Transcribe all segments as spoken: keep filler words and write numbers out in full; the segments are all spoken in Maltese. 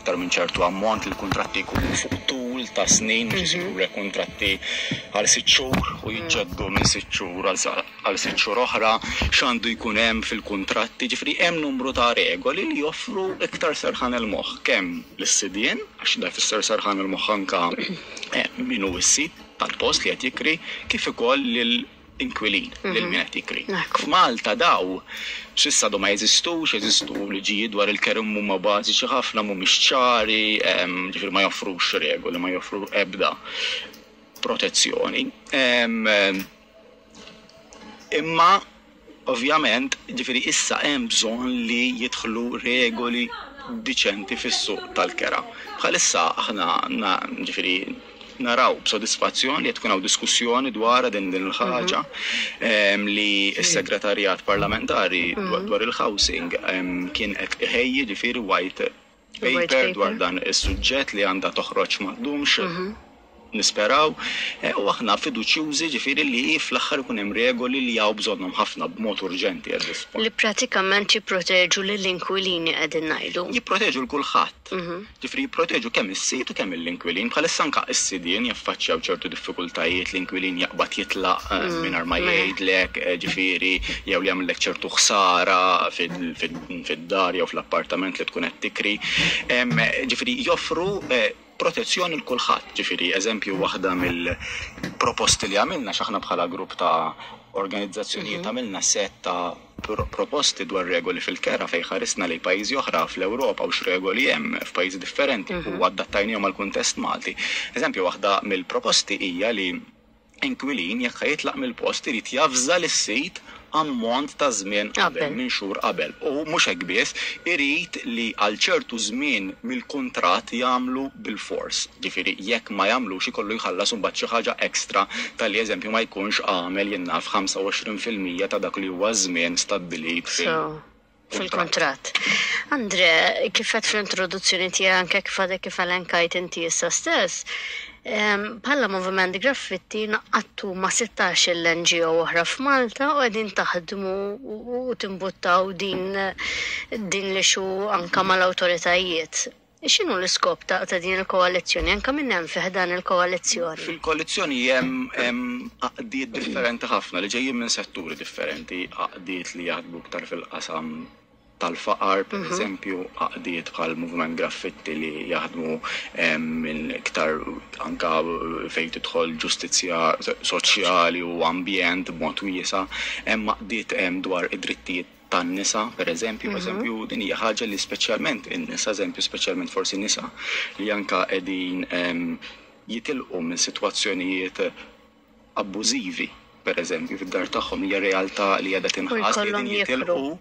iktar minn ċertu ammont, li l-kuntratti jkunu fuq tul ta' snin, mhux isiru rekontratti għal sitt xhur u jiġġeddu minn sitt xhur għal sitt xhur oħra, x'għandu jkun hemm fil-kuntratti. Ġifieri hemm numru ta' regoli li joffru iktar serħan il-moħħ kemm lis-sidien, għax da jfisser serħan il-moħħ anka min hu s-sid tal-post li qed jikri, kif ukoll lil inkwilin, lil min qed jikri. F'Malta daw s'issa għadu ma jeżistux, jeżistu liġijiet dwar il-kera huma bażiċi ħafna, mhumiex ċari, ġifieri ma joffrux regoli, ma joffru ebda protezzjoni. Imma ovvjament, ġifieri issa hemm bżonn li jidħlu regoli diċenti fis-suq tal-kera. Bħalissa aħna ġifieri naraw b'sodisfazzjon li tkun hawn diskussjoni dwar din din il-ħaġa, li s-segretarjat parlamentari dwar il-housing kien qed iħejji ġifieri white paper dwar dan is-suġġett li għandha toħroġ ma ddumx, nisperaw, u aħna fiduċjużi ġifieri li fl-aħħar ikun hemm regoli li hawn bżonnhom ħafna b'mod urġenti at this point. Li pratikament jipproteġu lill-inkwilini, qegħdin ngħidu. Jipproteġu l kulħadd. Ġifieri jipproteġu kemm is-sid u kemm l-inkwilin. Bħalissa anke s-sidien jaffaċċjaw ċertu diffikultajiet, l-inkwilin jaqbad jitlaq mingħajr ma jgħidlek, ġifieri jew li jagħmellek ċertu ħsara fid-dar jew fl-appartament li tkun qed tikri. Ġifieri joffru protezzjoni l kulħadd. Ġifieri eżempju, waħda mill-proposti li għamilna, x'aħna bħala grupp ta' organizzazzjonijiet għamilna set ta' proposti dwar regoli fil-kera fejn ħarisna lejn pajjiżi oħra fl-Ewropa u x'regoli hemm f'pajjiżi differenti u adattajnihom għall-kuntest Malti. Eżempju, waħda mill-proposti hija li inkwilin, jekk jitlaq mill-post, irid javża lis-sid ammont ta' żmien qabel, minn xhur qabel. U mhux hekk biss, irid li għal ċertu żmien mill-kuntratt jagħmlu bil-fors. Ġifieri jekk ma jagħmlux, ikollu jħallas imbagħad xi ħaġa ekstra tal-li eżempju ma jkunx għamel, jien naf, ħamsa u għoxrin fil-mija ta' dak li huwa żmien stabbilit fil- fil-kontrat. Andre, kif għedt fl-introduzzjoni tiegħek, anke kif għadek kif elenkajt inti issa stess, bħala Moviment Graffitti ngħaqadtu ma' sittax il-N G O oħra f'Malta u qegħdin taħdmu u timbuttaw din din l-issue anka mal-awtoritajiet. X'inhu l-iskop ta' ta' din il-koalizzjoni? Anka minn hemm fi dan il-koalizzjoni? Fil-koalizzjoni hemm għaqdiet differenti ħafna li ġejjin minn setturi differenti, għaqdiet li jaħdmu iktar fil-qasam tal-faqar, per eżempju, għaqdiet bħal Movement Graffitti li jaħdmu minn iktar anka fejn tidħol ġustizzja soċjali u ambjent b'mod wiesa', hemm għaqdiet hemm dwar id-drittijiet tan-nisa, per eżempju, per eżempju, din hija ħaġa li speċjalment in-nisa, eżempju, speċjalment forsi nisa li anka qegħdin jitilqu minn sitwazzjonijiet abbużivi, per eżempju, fid-dar tagħhom, hija realtà li qiegħda tinħass li qegħdin jitilqu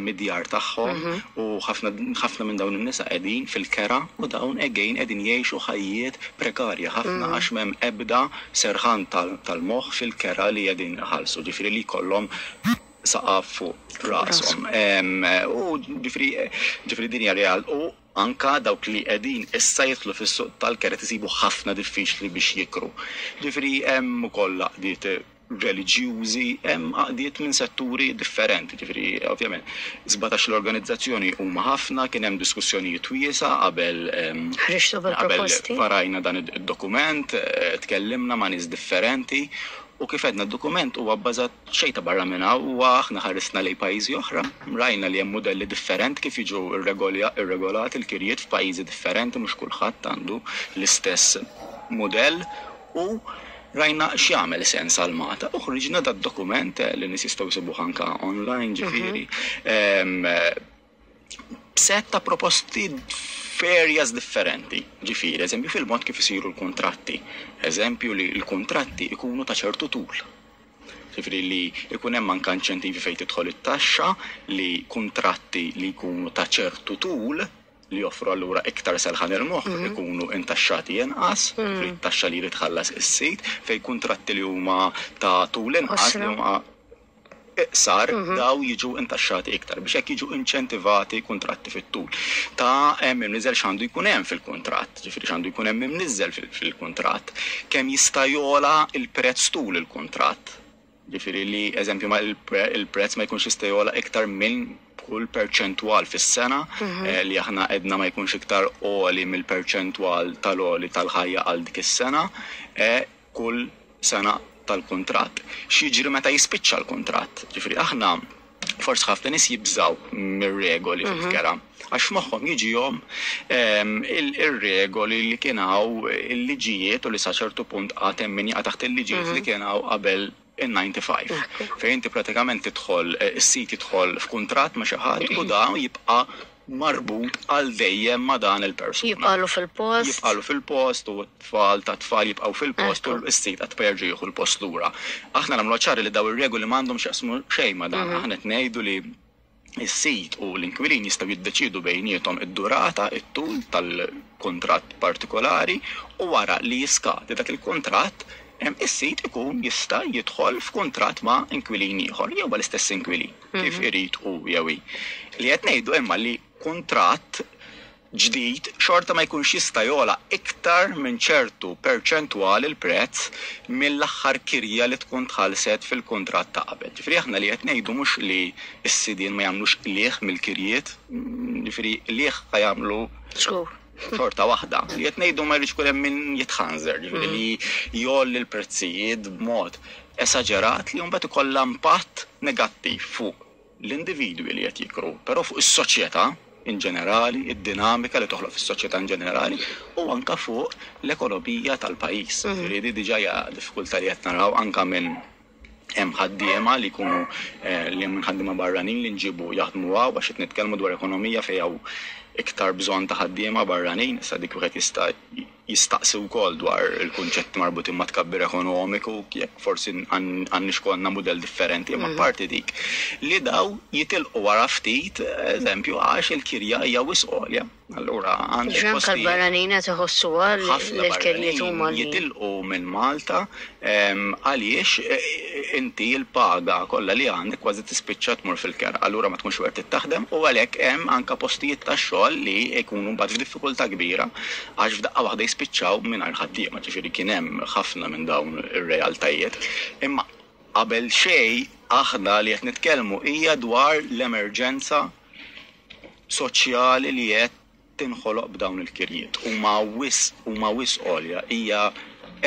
mid-djar tagħhom u ħafna ħafna minn dawn in-nisa qegħdin fil-kera u dawn again qegħdin jgħixu ħajjiet prekarja ħafna għax m'hemm ebda serħan tal-moħħ fil-kera li qegħdin iħallsu, ġifieri li jkollhom saqaf fuq rashom. U ġifieri ġifieri din hija real u anka dawk li qegħdin issa jidħlu fis-suq tal-kera tisibu ħafna diffiċli biex jikru. Ġifieri hemm ukoll għaqdiet reliġjużi, hemm għaqdiet minn setturi differenti, ġifieri ovvjament sbatax l-organizzazzjoni huma ħafna, kien hemm diskussjonijiet wiesa' qabel ħriġtu qabel bil-proposti. Varajna dan id-dokument, tkellimna ma' nies differenti. U kif għedna, d-dokument huwa bbażat xejn ta' barra minn hawn, huwa aħna ħarisna lejn pajjiżi oħra, rajna li hemm modelli differenti kif jiġu irregolati l-kirjiet f'pajjiżi differenti, mhux kulħadd għandu l-istess modell, u rajna x'jagħmel sens għal Malta. U ħriġna dad-dokument li nies jistgħu jsibuh anka online, ġifieri. Set ta' proposti f'areas differenti. Ġifieri, eżempju, fil-mod kif isiru l-kontratti. Eżempju, li l-kontratti ikunu ta' ċertu tul. Ġifieri li ikun hemm anke inċentivi fejn tidħol it-taxxa li kontratti li jkunu ta' ċertu tul, li joffru allura iktar serħan il-moħħ, ikunu intaxxati inqas, ġifieri t-taxxa li jrid tħallas is-sid, fejn kontratti li huma ta' tul inqas, li huma iqsar, daw jiġu intaxxati iktar biex hekk jiġu inċentivati kontratti fit-tul. Ta' hemm imniżel x'għandu jkun hemm fil-kuntratt, ġifieri x'għandu jkun hemm imniżel fil-kuntratt, kemm jista' jogħla il-prezz tul il-kuntratt. Ġifieri li, eżempju, ma il-prezz ma jkunx jista' jogħla iktar minn kull perċentwal fis-sena, eh, li aħna edna ma jkunx iktar għoli mill-perċentwal tal-għoli tal-ħajja għal dik is-sena, eh, kull sena tal-kuntratt. X'jiġri meta jispiċċa l-kuntratt? Ġifieri aħna forsi ħafna nies jibżaw mir-regoli fil-kera. Għax moħħhom jiġihom ehm, il-regoli li kien hawn, il-liġijiet, u li sa ċertu punt għad hemm min jaqa' taħt il-liġijiet li kien hawn qabel in-disgħa u disgħin. Fejn inti pratikament tidħol, eh, is-sit jidħol f'kuntratt ma' xi ħadd u dan jibqa' marbut għal dejjem ma' dan il-persuna. Jibqalu fil-post. Jibqalu fil-post u t-tfal ta' tfal jibqgħu fil-post u s-sit qatt ma jerġa' jieħu l-post lura. Aħna nagħmlu ċari li daw ir-regoli m'għandhom x'jaqsmu xejn ma' dan. Aħna qed ngħidu li is-sit u l-inkwilin jistgħu jiddeċidu bejniethom id-durata, it-tul tal-kuntratt partikolari, u wara li jiskadi dak il-kuntratt, em, is-sit ikun jista' jidħol f'kuntratt ma' inkwilin ieħor jew mal-istess inkwilin kif irid u jew hi. Li qed ngħidu imma li kuntratt ġdid xorta ma jkunx jista' jogħla iktar minn ċertu perċentwal il-prezz mill-aħħar kirja li tkun tħallset fil-kuntratt ta' qabel. Ġifieri aħna li qed ngħidu mhux li s-sidien ma jagħmlux qligħ mill-kirjiet, ġifieri qligħ ħa jagħmlu Żgur. xorta waħda. Li qed ngħidu ma jridx ikun hemm min jitħanżer, ġifieri li jgħolli l-prezzijiet b'mod esaġerat li mbagħad ikollha impatt negattiv fuq l-individwi li qed jikru, però fuq is-soċjetà in ġenerali, id-dinamika li toħloq fis-soċjetà in ġenerali u anka fuq l-ekonomija tal-pajjiż. Ġifieri di diġà hija diffikultà li qed naraw anka minn hemm ħaddiema li jkunu eh, li hemm ħaddiema barranin li nġibu jaħdmu hawn, għax qed nitkellmu dwar ekonomija fejn hawn iktar bżonn ta' ħaddiema barranin. Issa dik wieħed jista' jistaqsi wkoll dwar il-kunċetti marbutin ma' tkabbir ekonomiku, jekk forsi għandniex ikollna mudell differenti, imma parti dik li daw jitilqu wara ftit, eżempju, għax il-kirja hija wisq għolja. Allura għandek Ġranka postijiet l-barranin qed iħossuha li ħafna l-kirjiet barranin huma li jitilqu minn Malta em, għaliex eh, inti l-paga kollha li għandek kważi tispiċċa tmur fil-kera. Allura ma tkunx wert taħdem u għalhekk hemm anka postijiet ta' xogħol li jkunu mbagħad f'diffikultà kbira għax f'daqqa waħda jispiċċaw mingħajr ħaddiema. Ġifieri kien hemm ħafna minn dawn ir-realtajiet. Imma qabel xejn aħna li qed nitkellmu hija dwar l-emerġenza soċjali li qed tinħoloq b'dawn il-kirjiet. Huma wisq huma wisq għolja, hija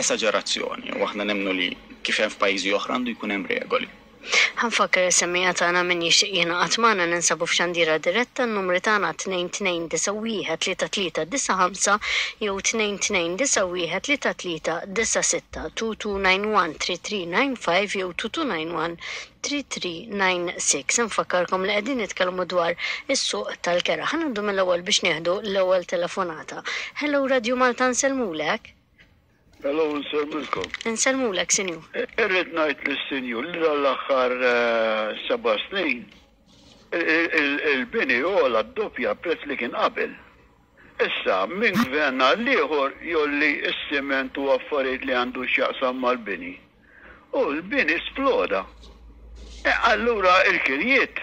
esaġerazzjoni u aħna nemmnu li kif hemm f'pajjiżi oħra għandu jkun hemm regoli. Ħa nfakkar is-semmiegħa tagħna, min jixtieq jingħaqad magħna, ninsabu f'xandira diretta, n-numri tagħna tnejn tnejn disa' wieħed tlieta tlieta disa' ħamsa jew tnejn tnejn disa' wieħed tlieta tlieta disa' sitta, tnejn tnejn disa' wieħed tlieta tlieta disa' ħamsa jew tnejn tnejn disa' wieħed tlieta tlieta disa' sitta. Nfakkarkom li qegħdin nitkellmu dwar is-suq tal-kera. Ħa ngħaddu mill-ewwel biex nieħdu l-ewwel telefonata. Hello, Radio Malta, nsellmulek. Hello, nsellmilkom. Nsellmulek, sinjur. Irrid ngħid lis-sinjur li dal-aħħar eh, seba' snin il- il- il-bini għola d-doppja prezz li kien qabel. Issa, minn gvern għal ieħor jgħolli s-siment u affarijiet li għandu x'jaqsam mal-bini. U l-bini sploda. E, allura il-kirjiet,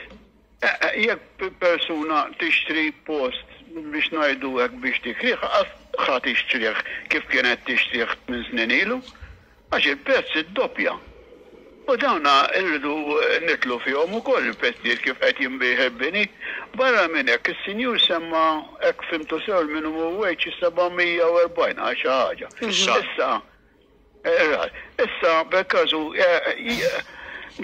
e, e, jekk persuna tixtri post biex ngħidu hekk biex tikrih, ħa tixtrih kif kienet tixtrih minn snin ilu, għax il-prezz id-doppja. U dawna irridu nidħlu fihom ukoll il-prezzijiet kif qed jinbiegħ il-bini. Barra minn hekk is-sinjur semma, hekk fhimtu sew, il-minimum wage seba' mija u erbgħin għal xi ħaġa. Fix-xahar. Issa, eh, issa per każu eh,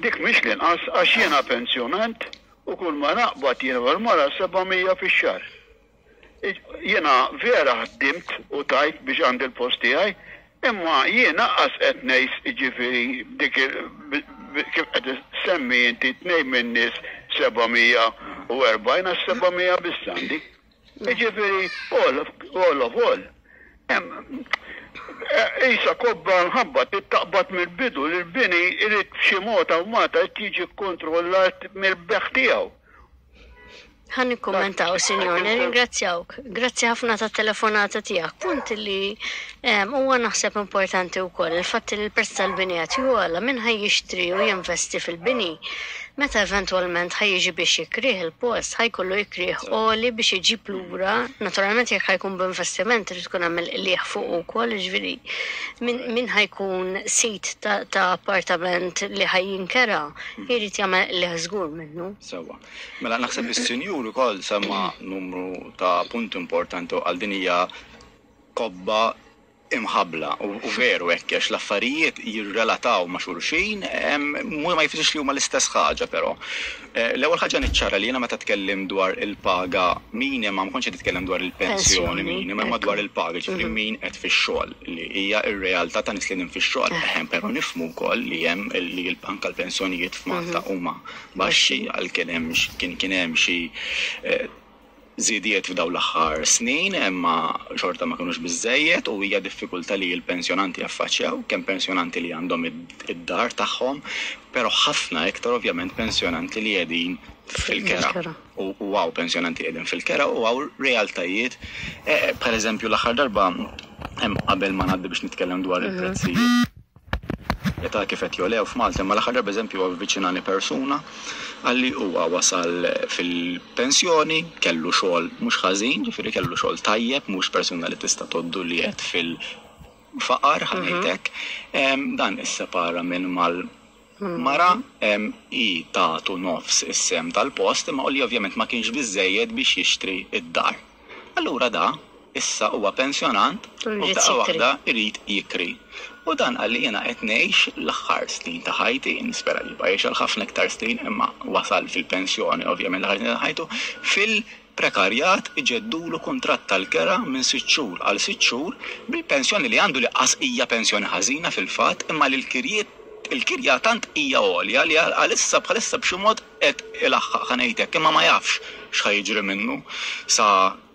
dik mhix l-inqas, għax jiena pensjonant u kull ma naqbad jiena mara seba' mija fix-xahar. Jiena vera ħdimt u tajt biex għandi l-post tiegħi, imma jiena qas qed ngħix, jiġifieri dik il- bi- bi- kif qed semmi inti tnejn minn nies seba' mija u erbgħin, għax seba' mija biss għandi. Jiġifieri all of all of all. Hemm Isa kobba nħabba taqbad mill-bidu li l-bini irid b'xi mod aw mata jiġi kontrollat mill-bejgħ tiegħu. Ħa nikkummentaw, sinjor, nirringrazzjawk. Grazzi ħafna ta' telefonata tiegħek. Punt li em, huwa naħseb importanti wkoll il-fatt li l-prezz tal-bini qed jogħla, min ħa jixtri u jinvesti fil-bini. Meta eventwalment ħa jiġi biex jikrih il-post, ħa jkollu jikrih għoli biex iġib lura, naturalment jekk ħa jkun b'investiment irid tkun hemm il-qligħ fuq ukoll, jiġifieri min, min ħa jkun sid ta', ta appartament li ħa jinkera, jrid jagħmel qligħ żgur minnu. Sewwa. Mela naħseb is-sinjur ukoll semma numru ta' punt importanti għal din hija kobba imħabla u, u veru hekk għax l-affarijiet jirrelataw ma' xulxin, em, mu ma jfissirx li huma l-istess ħaġa però. Eh, L-ewwel ħaġa niċċara li jiena meta tkellim dwar il-paga minima ma kontx qed nitkellem dwar il-pensjoni Pensjoni, minima, imma ekku. dwar il-paga, ġifieri min qed fix-xogħol li hija r-realtà ta' nies li qegħdin fix-xogħol. Eħem, però nifhmu wkoll li hemm li l-anka l-pensjonijiet f'Malta huma baxxi għal kien hemm kien kien hemm xi eh, żidiet f'dawn l-aħħar snin, imma xorta ma kinux biżejjed u hija diffikultà li l-pensjonanti jaffaċċjaw, kemm pensjonanti li għandhom id- id-dar tagħhom, però ħafna iktar ovvjament pensjonanti li qegħdin fil-kera. Fil-kera. U u hawn pensjonanti qegħdin fil-kera u hawn realtajiet, eh, per eżempju l-aħħar darba hemm qabel ma ngħaddi biex nitkellem dwar il-prezzijiet ta' kif qed jogħlew f'Malta, imma l-aħħar darba eżempju avviċinani persuna għalli huwa wasal fil-pensjoni, kellu xogħol mhux ħażin, ġifieri kellu xogħol tajjeb, mhux persuna li tista' tgħoddu li qed fil-faqar ħa ngħidlek. Em, Dan issepara minn mal Mara em, i tatu nofs is-sehem tal-post, imma li ovvjament ma kienx biżejjed biex jixtri id-dar. Allura da issa huwa pensjonant U u jrid daqqa jikri. waħda irid jikri. U dan qalli jiena qed ngħix l-aħħar snin ta' ħajti, nispera li jibqa' jgħix għal ħafna iktar snin, imma wasal fil-pensjoni ovvjament l-aħħar snin ta' ħajtu, fil-prekarjat iġeddulu kuntratt tal-kera minn sitt xhur għal sitt xhur bil-pensjoni li għandu li qas hija pensjoni ħażina fil-fatt, imma li l-kirjiet il-kirja tant hija għolja li għalissa bħalissa b'xi mod qed ilaħħaq ħa ngħidlek, imma ma jafx x'ħa jiġri minnu sa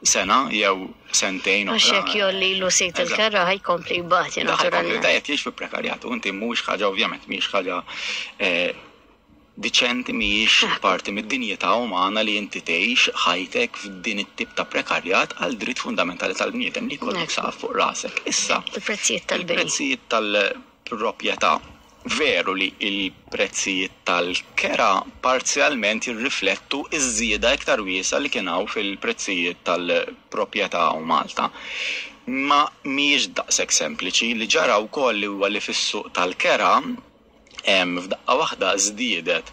sena jew sentejn Għax oħra. jekk jgħollilu sid Eżatt. il-kera ħa jkompli jbati Da ħa jkompli naturalment. da qed jgħix fi prekarjat u inti mhuwiex ħaġa ovvjament mhijiex ħaġa eh, diċenti mhijiex parti mid-dinjità umana li inti tgħix ħajtek f'din it-tip ta' prekarjat għal dritt fundamentali tal-bniedem li jkollok Ekku. saqaf fuq rasek. Issa, Il-prezzijiet tal-bini. il-prezzijiet tal-proprjetà veru li il-prezzijiet tal-kera parzjalment jirriflettu iż-żieda iktar wiesa li kien hawn fil-prezzijiet tal-proprjetà u Malta. Ma mhijiex daqshekk sempliċi li ġara wkoll li huwa li fis-suq tal-kera hemm f'daqqa waħda żdiedet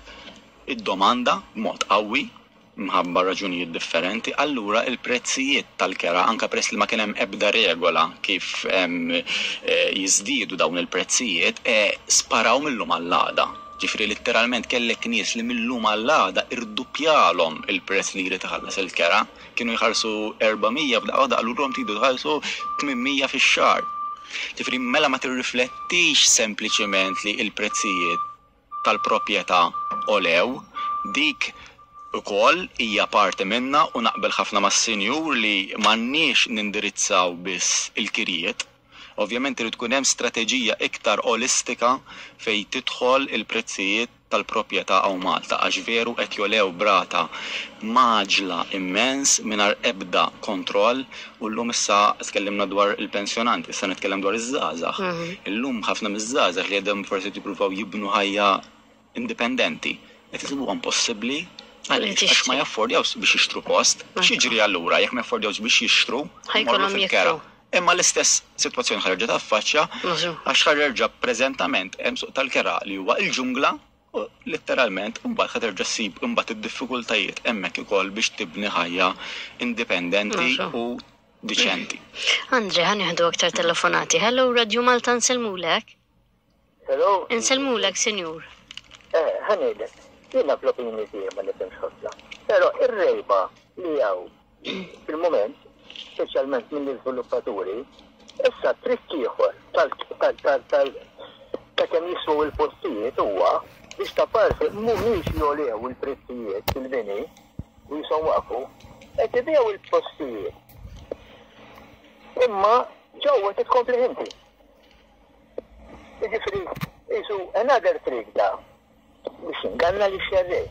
id-domanda b'mod qawwi mħabba raġunijiet differenti, allura il-prezzijiet tal-kera, anka peress li ma kien hemm ebda regola kif em, eh, jiżdiedu dawn il-prezzijiet, eh, sparaw mill-lum għall-għada. Ġifieri letteralment kellek nies li mill-lum għall-għada irduppjalhom il-prezz li jrid iħallas il-kera, kienu jħallsu erba' mija f'daqqa waħda qalulhom tridu tħallsu tmien mija fix-xahar. Ġifieri mela ma tirriflettix sempliċiment li il-prezzijiet tal-proprjetà għolew, dik ukoll hija parti minna u naqbel ħafna mas-sinjur li m'għandniex nindirizzaw biss il-kirjiet. Ovvjament irid tkun hemm strateġija iktar olistika fejn tidħol il-prezzijiet tal-proprjetà hawn Malta, għax veru qed jogħlew b'rata mgħaġġla immens mingħajr ebda kontroll. U llum issa tkellimna dwar il-pensjonanti, issa nitkellem dwar iż-żgħażagħ. Mhm. Illum ħafna miż-żgħażagħ li qegħdin forsi jippruvaw jibnu ħajja indipendenti qed isibuha impossibbli għaliex għax ma jaffordjawx biex jixtru post. X'jiġri allura jekk ma jaffordjawx biex jixtru, Ħa jkollhom imorru fil-kera. jikru. Imma l-istess sitwazzjoni ħa jerġa' taffaċċja Mażu. għax ħa jerġa' preżentament hemm suq tal-kera li huwa il-ġungla u letteralment mbagħad ħa terġa' ssib imbagħad id-diffikultajiet hemmhekk ukoll biex tibni ħajja indipendenti Mażu. u diċenti. Andre, ħa nieħdu aktar telefonati. Hello, Radio Malta, nsellmulek. Hello. Insellmulek, sinjur. Eh, ħa ngħidlek, jiena fl-opinjoni tiegħi ma nifhimx ħafna. Però ir-rejba li hawn fil-moment, speċjalment mill-iżviluppaturi, issa trikk ieħor tal tal tal tal ta' kemm jiswew il-postijiet huwa biex ta' parti mhumiex jogħlew il-prezzijiet fil-bini u jisom waqfu, qed ibigħu il-postijiet. Imma ġewwa titkompli inti. Jiġifieri, jisu another trick da biex inganna li xerrej.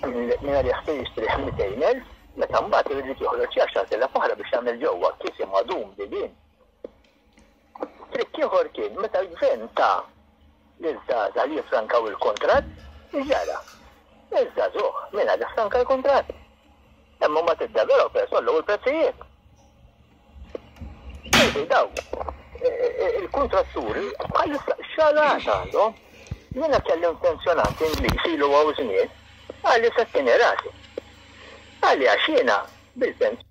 Minna li jaħtu jixtri mitejn elf, meta mbagħad irid joħroġ għaxar elef oħra biex jagħmel ġewwa kisi madum bibien. Trikk ieħor kien meta l-gvern ta' liż-żgħażagħ li jifrankaw il-kontratt, ġara. Iż-żagħżugħ min għad stanka l-kuntratt. Imma ma tid-developers għollew il-prezzijiet. Daw, il-kontratturi bħalissa xalat għandhom. Jiena kellim pensjonant Ingliż ilu hawn żmien, qalli settini rasi. Qalli għax jiena bil-pensjoni.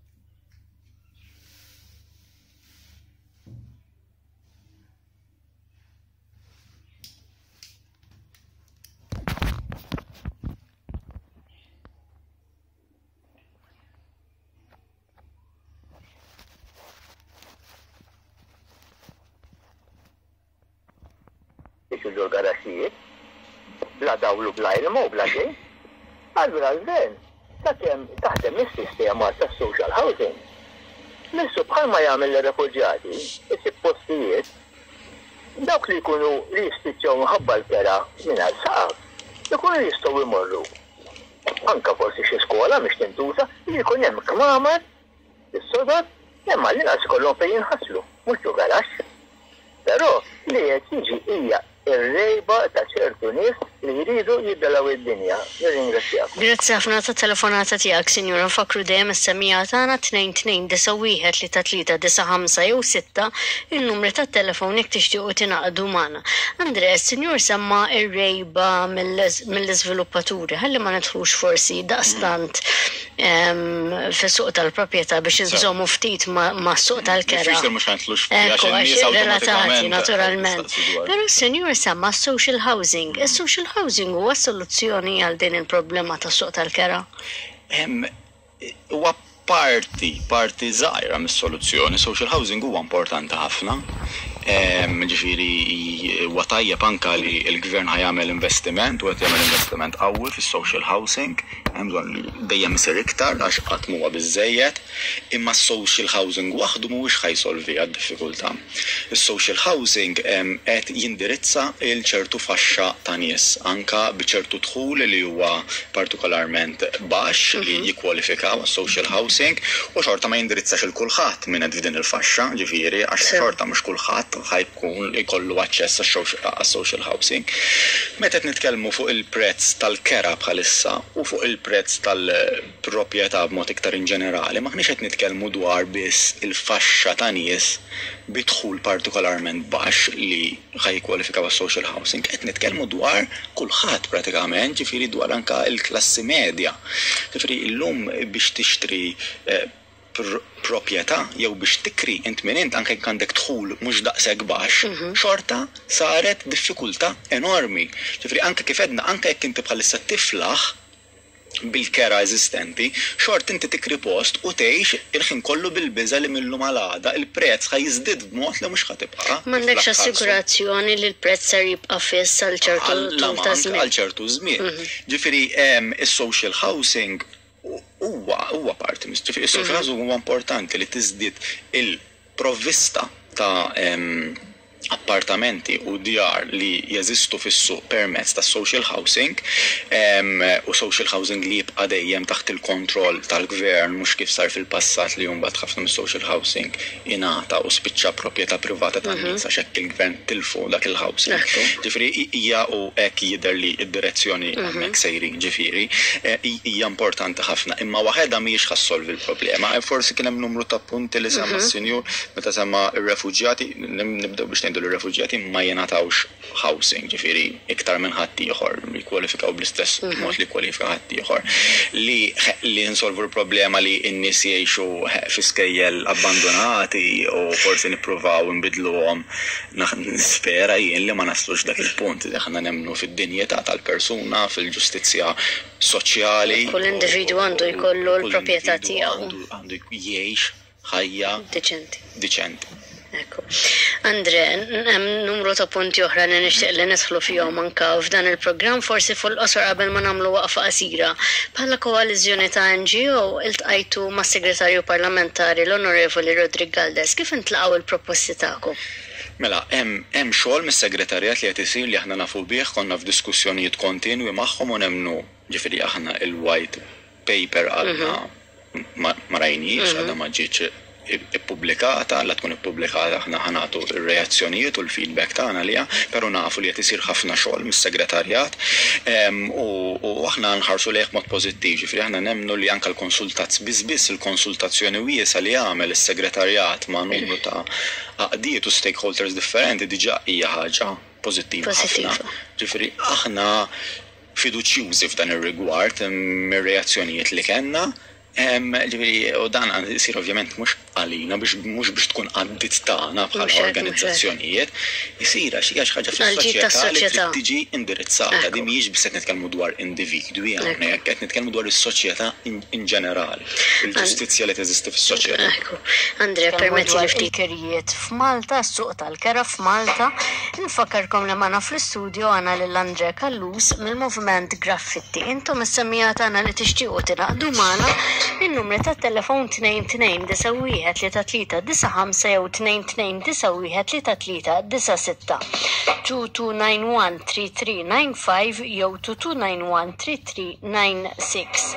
Ġol-garaxxijiet, bla dawlu, bla ilma u bla xejn. Allura l-gvern, sakemm taħdem is-sistema tas-social housing, missu bħalma jagħmel lir-refuġjati, isib postijiet, dawk li jkunu li jispiċċaw minħabba l-kera mingħajr saqaf, ikunu jistgħu jmorru. Anka forsi xi skola mhix tintuża, li jkun hemm kmamar, is-sodod, imma l-inqas ikollhom fejn jinħaslu, mhux ġo garaxx. Però li qed jiġi hija ir-rejba ta' ċertu nies li jridu jibdelaw id-dinja. Nirringrazzjakom. Grazzi ħafna ta' telefonata tiegħek, Sinjura. Nfakru dejjem is-semmiegħa tagħna tnejn tnejn disa' wieħed tlieta tlieta disa' ħamsa jew sitta in-numri tat-telefon jekk tixtiequ tingħaqdu magħna. Andre, is-Sinjur semma ir-rejba mill-iżviluppaturi, ħalli ma nidħlux forsi daqstant fis-suq tal-proprjetà biex inżommu ftit mas-suq tal-kera. Diffiċli mhux ħanidħlux fiha għax in-nies relatati naturalment. Però s-Sinjur semma social housing. Is-social housing huwa soluzzjoni għal din il-problema tas-suq tal-kera? Huwa parti, parti żgħira mis-soluzzjoni. Social housing huwa importanti ħafna. Ġifieri huwa tajjeb anke li l-gvern ħa jagħmel investiment u qed jagħmel investiment qawwi fis-social housing. Hemm bżonn li dejjem isir iktar għax qatt m'huwa biżżejjed, imma s-social housing waħdu mhuwiex ħa jsolvi għad-diffikultà. Is-social housing qed jindirizza il ċertu faxxa ta' nies anke bi ċertu dħul li huwa partikolarment baxx li jikkwalifikaw għas-social housing u xorta ma jindirizzax il kulħadd minn qed f'din il-faxxa, ġifieri għax xorta mhux kulħadd ħajkun ikollu aċċess għas-social housing. Meta qed nitkellmu fuq il-prezz tal-kera bħalissa u fuq il-prezz tal-proprjetà b'mod iktar in ġenerali, m'aħniex qed nitkellmu dwar biss il-faxxa ta' nies bi dħul partikolarment baxx li ħajkwalifikaw għas-social housing, qed nitkellmu dwar kulħadd pratikament, ġifieri dwar anke l-klassi medja. Ġifieri llum biex tixtri proprjetà jew biex tikri int minn int anke jekk għandek dħul mhux daqshekk baxx, xorta saret diffikultà enormi. Ġifieri anke kif edna, anke jekk inti bħalissa tiflaħ bil-kera eżistenti, xort inti tikri post u tgħix il-ħin kollu bil-biża' li millum għal għada il-prezz ħa jiżdied b'mod li mhux ħa tibqa'. M'għandekx assigurazzjoni li l-prezz ser jibqa' fiss għal ċertu tul ta' żmien. Għal ċertu żmien. Ġifieri is-social housing huwa huwa parti, ġifieri is-social housing huwa importanti li tiżdied il-provvista ta' appartamenti u djar li jeżistu fis-suq permezz ta' social housing, u social housing li jibqa' dejjem taħt il-kontroll tal-gvern, mhux kif sar fil-passat li mbagħad ħafna mis-social housing ingħata u spiċċa proprjetà privata tan-nies għax hekk il-gvern tilfu dak il-housing. Ġifieri hija u hekk jidher li d-direzzjoni hemmhekk sejrin, ġifieri hija importanti ħafna, imma waħedha mhijiex ħa ssolvi l-problema. Forsi kien hemm numru ta' punti li semma s-sinjur meta semma r-refuġjati, nibdew biex ngħidu l-refuġjati ma jingħatawx housing, ġifieri iktar minn ħaddieħor jikkwalifikaw bl-istess mod li kwalifika ħaddieħor. Li li nsolvu l-problema li n-nies jgħixu fi skejjel abbandonati u forsi nippruvaw nbidluhom, nispera jien li ma naslux dak il-punt, li aħna nemmnu fid-dinjità tal-persuna, fil-ġustizzja soċjali. Kull individwu għandu jkollu l-proprjetà tiegħu. Għandu jgħix ħajja Diċenti. Diċenti. Ekku. Andre, hemm numru ta' punti oħra li nixtieq li nidħlu fihom anke f'dan il-programm, forsi fuq il-qosor qabel ma nagħmlu waqfa qasira. Bħala koalizzjoni ta' N G O iltqajtu mas-Segretarju Parlamentari l-Onorevoli Roderick Galdes. Kif intlaqgħu il-proposti tagħkom? Mela, hemm, hemm xogħol mis-segretarjat li qed isir li aħna nafu bih, konna f'diskussjonijiet kontinwi magħhom u nemmnu, ġifieri aħna il-white paper għadna ma, ma rajniex, għadha ma ġietx ippubblikata, la tkun ippubblikata aħna ħa nagħtu r-reazzjonijiet u l-feedback tagħna liha, però nafu li qed isir ħafna xogħol mis-segretarjat u aħna nħarsu lejh mod pożittiv, ġifieri aħna nemmnu li anke l-konsultazz biss biss il-konsultazzjoni wiesgħa li għamel is-segretarjat ma' numru ta' għaqdiet u stakeholders differenti diġà hija ħaġa pożittiva ħafna. Ġifieri aħna fiduċjużi f'dan ir-rigward mir-reazzjonijiet li kellna. Ġifieri, u dan isir ovvjament mhux għalina, biex mhux biex tkun għaddit tagħna bħala organizzazzjonijiet, isir għax hija xi ħaġa fis-soċjetà li trid tiġi indirizzata. Din mhijiex biss qed nitkellmu dwar individwi hawnhekk, qed nitkellmu dwar is-soċjetà in ġenerali, il-ġustizzja li teżisti fis-soċjetà. Andre, permetti li ftit kirjiet f'Malta, s-suq tal-kera f'Malta. Nfakkarkom li magħna fl-istudio għandna lil Andre Callus mill-Moviment Graffitti. Intom is-semmiegħa tagħna li tixtiequ tingħaqdu magħna, il-numri tat-telefon tnejn tnejn disa' wieħed tlieta tlieta disa' ħamsa jew tnejn tnejn disa' wieħed tlieta tlieta disa' sitta. two two nine one three three nine five jew two two nine one three three nine six.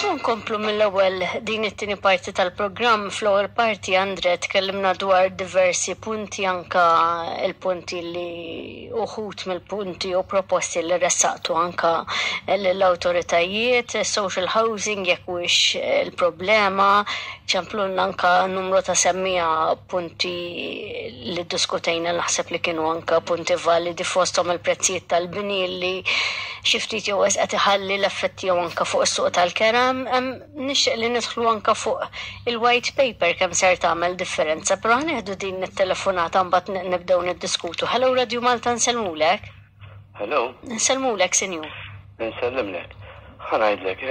Nkomplu mill-ewwel din it-tieni parti tal-programm. Fl-ewwel parti, Andre, tkellimna dwar diversi punti, anka il-punti li uħut mill-punti u proposti li ressaqtu anka l-awtoritajiet, social housing jekk huwiex il-problema, ċemplunna anka numru ta' semmiegħa punti li diskutejna, naħseb li kienu anka punti validi, fosthom il-prezzijiet tal-bini li xi ftit jew qed iħalli l-effetti jew anka fuq is-suq tal-kera. Nixtieq li nidħlu anka fuq il-white paper kemm ser tagħmel differenza, però ħa nieħdu din it-telefonata mbagħad nibdew niddiskutu. Hello, Radio Malta, nsellmulek. Hello. Nsellmulek, sinjur. Nsellimlek. Ħa ngħidlek,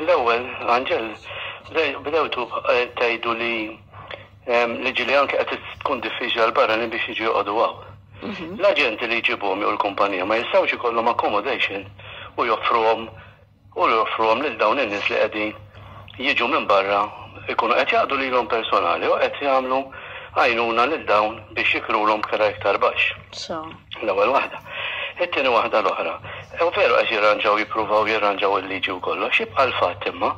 l-ewwel, Angel, bdewtu tgħidu li li ġili anke qed tkun diffiċli għal barranin biex jiġu joqogħdu hawn. L-aġenti li jġibuhom jew l-kumpanija ma jistgħux ikollhom accommodation u joffruhom u joffruhom lil dawn in-nies li qegħdin jiġu minn barra, ikunu qed jaqdu lilhom personali u qed jagħmlu għajnuna lil dawn biex jikrulhom kera iktar baxx. L-ewwel waħda. It-tieni waħda l-oħra. U veru qed jirranġaw, jippruvaw jirranġaw il-liġi u kollox, jibqa' l-fatt imma.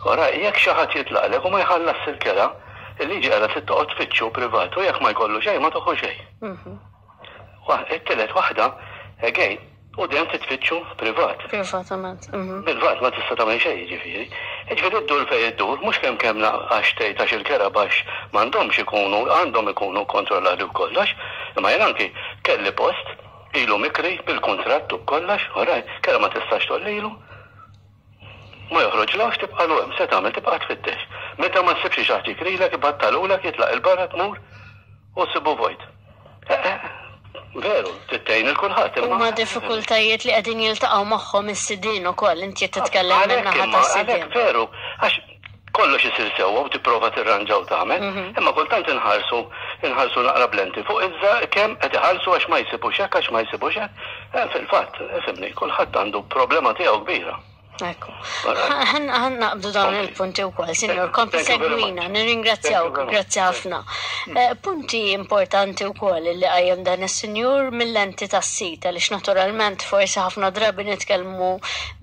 Ora, jekk xi ħadd jitlaqlek u ma jħallas il-kera, il-liġi qiegħda trid toqgħod tfittxu privat u jekk ma jkollu xejn ma toħu xejn. It-tielet waħda, again, u dejjem titfittxu privat. Privatament. Bil-vat ma tista' tagħmel xejn, jiġifieri. Jiġifieri ddur fejn iddur, mhux kemm kemm għax tgħid għax il-kera baxx m'għandhomx ikunu, għandhom ikunu kontrollati u kollox, imma jien anki kelli post ilu mikri bil-kuntratt u kollox, oraj, kera ma tistax tollilu. Ma joħroġ lawx tibqa' hemm, se tagħmel tibqa' tfittex. Meta ma ssibx xi ħadd jikrilek ibattalulek, jitlaq il-barra tmur u ssibu vojt. Veru, tittejn il-kulħadd. Huma diffikultajiet li qegħdin jiltaqgħu magħhom is-sidien ukoll, inti qed titkellem minn naħa tas-sidien. Veru, għax kollox isir sewwa u tipprova tirranġaw tagħmel, imma kultant inħarsu inħarsu naqra blenti fuq iżda kemm qed iħallsu għax ma jsibux hekk, għax ma jsibux hekk. Fil-fatt, ifhimni, kulħadd għandu problema tiegħu kbira. Ekku. Ħan naqbdu dawn il-punti wkoll, sinjor, kompli segwina, nirringrazzjawk, grazzi ħafna. Punti importanti wkoll li qajjem dan is-sinjur mill-lenti tas-sit, għaliex naturalment forsi ħafna drabi nitkellmu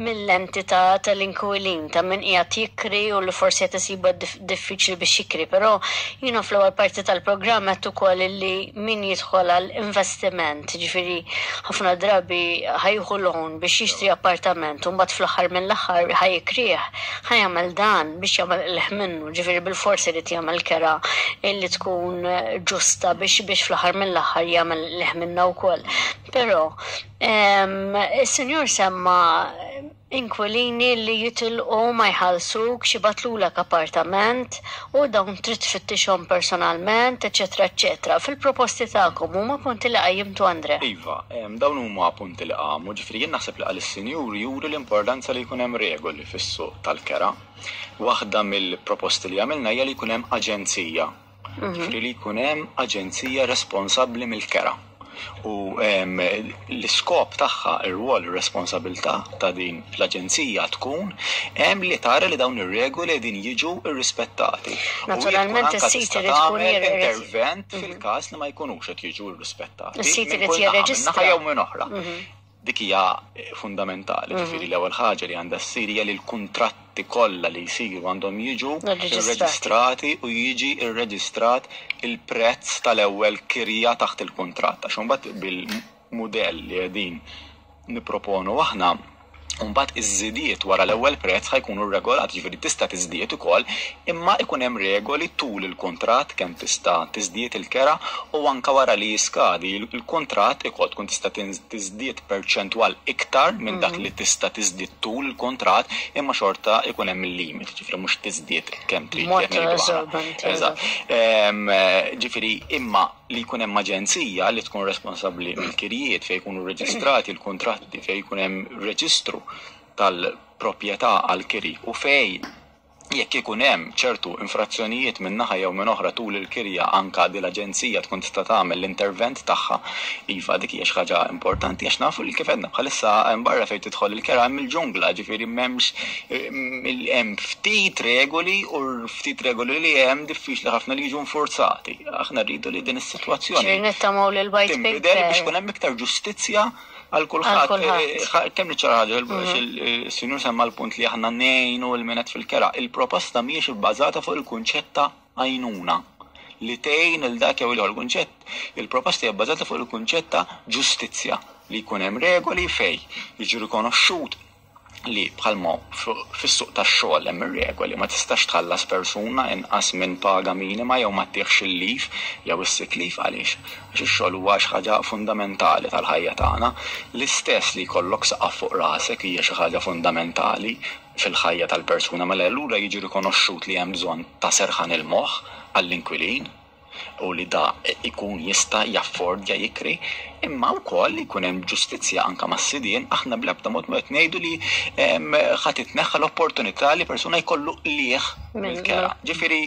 mill-lenti tal-inkwilin, ta' min qiegħed jikri u li forsi qed isibha diffiċli biex jikri, però jiena fl-ewwel parti tal-programm qed ukoll li min jidħol għal investiment, ġifieri ħafna drabi ħa jieħu loan biex jixtri appartament u mbagħad fl-aħħar minn l-aħħar ħa jikrih, ħa jagħmel dan biex jagħmel qligħ minnu, ġifieri bil-forsi li jagħmel kera illi tkun ġusta biex biex fl-aħħar mill-aħħar jagħmel qligħ minnha wkoll. Però is-sinjur semma inkwilini li jitilqu ma jħallsuk, xibatlulek appartament u dawn trid tfittixhom personalment, eċetera, eċetera. Fil-proposti tagħkom huma punti li qajjimtu, Andre? Iva, dawn huma punti li qamu, ġifieri jien naħseb li qal is-sinjur juri l-importanza li jkun hemm regoli fis-suq tal-kera. Waħda mill-proposti li għamilna hija li jkun hemm aġenzija. Ġifieri li jkun hemm aġenzija responsabbli mill-kera. U l-iskop tagħha, ir-rwol, ir-responsabilità ta' din l-aġenzija tkun hemm li tara li dawn ir-regoli din jiġu rrispettati. Naturalment is-sit irid tkun intervent fil-każ li ma jkunux qed jiġu rrispettati. Is-sit irid jirreġistra. Jew minn oħra. Dik hija fundamentali, ġifieri l-ewwel ħaġa li għandha ssir hija li l-kuntratti kollha li jsiru għandhom jiġu rreġistrati u jiġi rreġistrat il-prezz tal-ewwel kirja taħt il-kuntratt. Għax imbagħad bil-mudell li qegħdin nipproponu aħna, mbagħad iż-żidiet wara l-ewwel prezz ħa jkunu regolati, ġifieri tista' tiżdied ukoll, imma ikun hemm regoli tul il-kuntratt kemm tista' tiżdied il-kera u anke wara li jiskadi il-kuntratt ukoll tkun tista' tiżdied perċentwal iktar minn dak li tista' tiżdied tul il-kuntratt, imma xorta ikun hemm il-limit, ġifieri mhux tiżdied kemm trid. Eżatt. Ġifieri imma li jkun hemm aġenzija li tkun responsabbli mill-kirjiet fejn jkunu rreġistrati l-kuntratti, fejn jkun hemm reġistru tal-proprjetà għall-kiri u fejn jekk ikun hemm ċertu infrazzjonijiet minn naħa jew minn oħra tul il-kirja anka din l-aġenzija tkun tista' tagħmel l-intervent tagħha. Iva, dik hija xi ħaġa importanti għax nafu li kif għedna bħalissa hemm barra fejn tidħol il-kera hemm il-ġungla, ġifieri m'hemmx hemm ftit regoli u ftit regoli li hemm diffiċli ħafna li jiġu nfurzati. Aħna rridu li din is-sitwazzjoni tinbidel biex ikun hemm iktar ġustizzja għal kulħadd. Kemm niċċara ħaġa, il-sinjur semma l-punt li aħna ngħinu lil min qed fil-kera. Il-proposta mhijiex ibbażata fuq il-kunċett ta' għajnuna li tgħin il dak jew l-ieħor kunċett. Il-proposta hija bbażata fuq il-kunċett ta' ġustizzja li jkun hemm regoli fejn jiġi rikonoxxut li bħalma fis-suq tax-xogħol hemm ir-regoli ma tistax tħallas persuna inqas minn paga minima jew ma ttieħx il-leave jew is-sick leave. Għaliex? Għax ix-xogħol huwa xi ħaġa fundamentali tal-ħajja tagħna. L-istess li jkollok saqaf fuq rasek hija xi ħaġa fundamentali fil-ħajja tal-persuna, mela allura jiġi rikonoxxut li hemm bżonn ta' serħan il-moħħ għall-inkwilin u li da ikun jista' jaffordja jikri, imma wkoll li jkun hemm ġustizzja anke mas-sidien. Aħna bl-ebda mod ma qed ngħidu li ħa titneħħa l-opportunità li persuna jkollu qligħ mill-kera. Ġifieri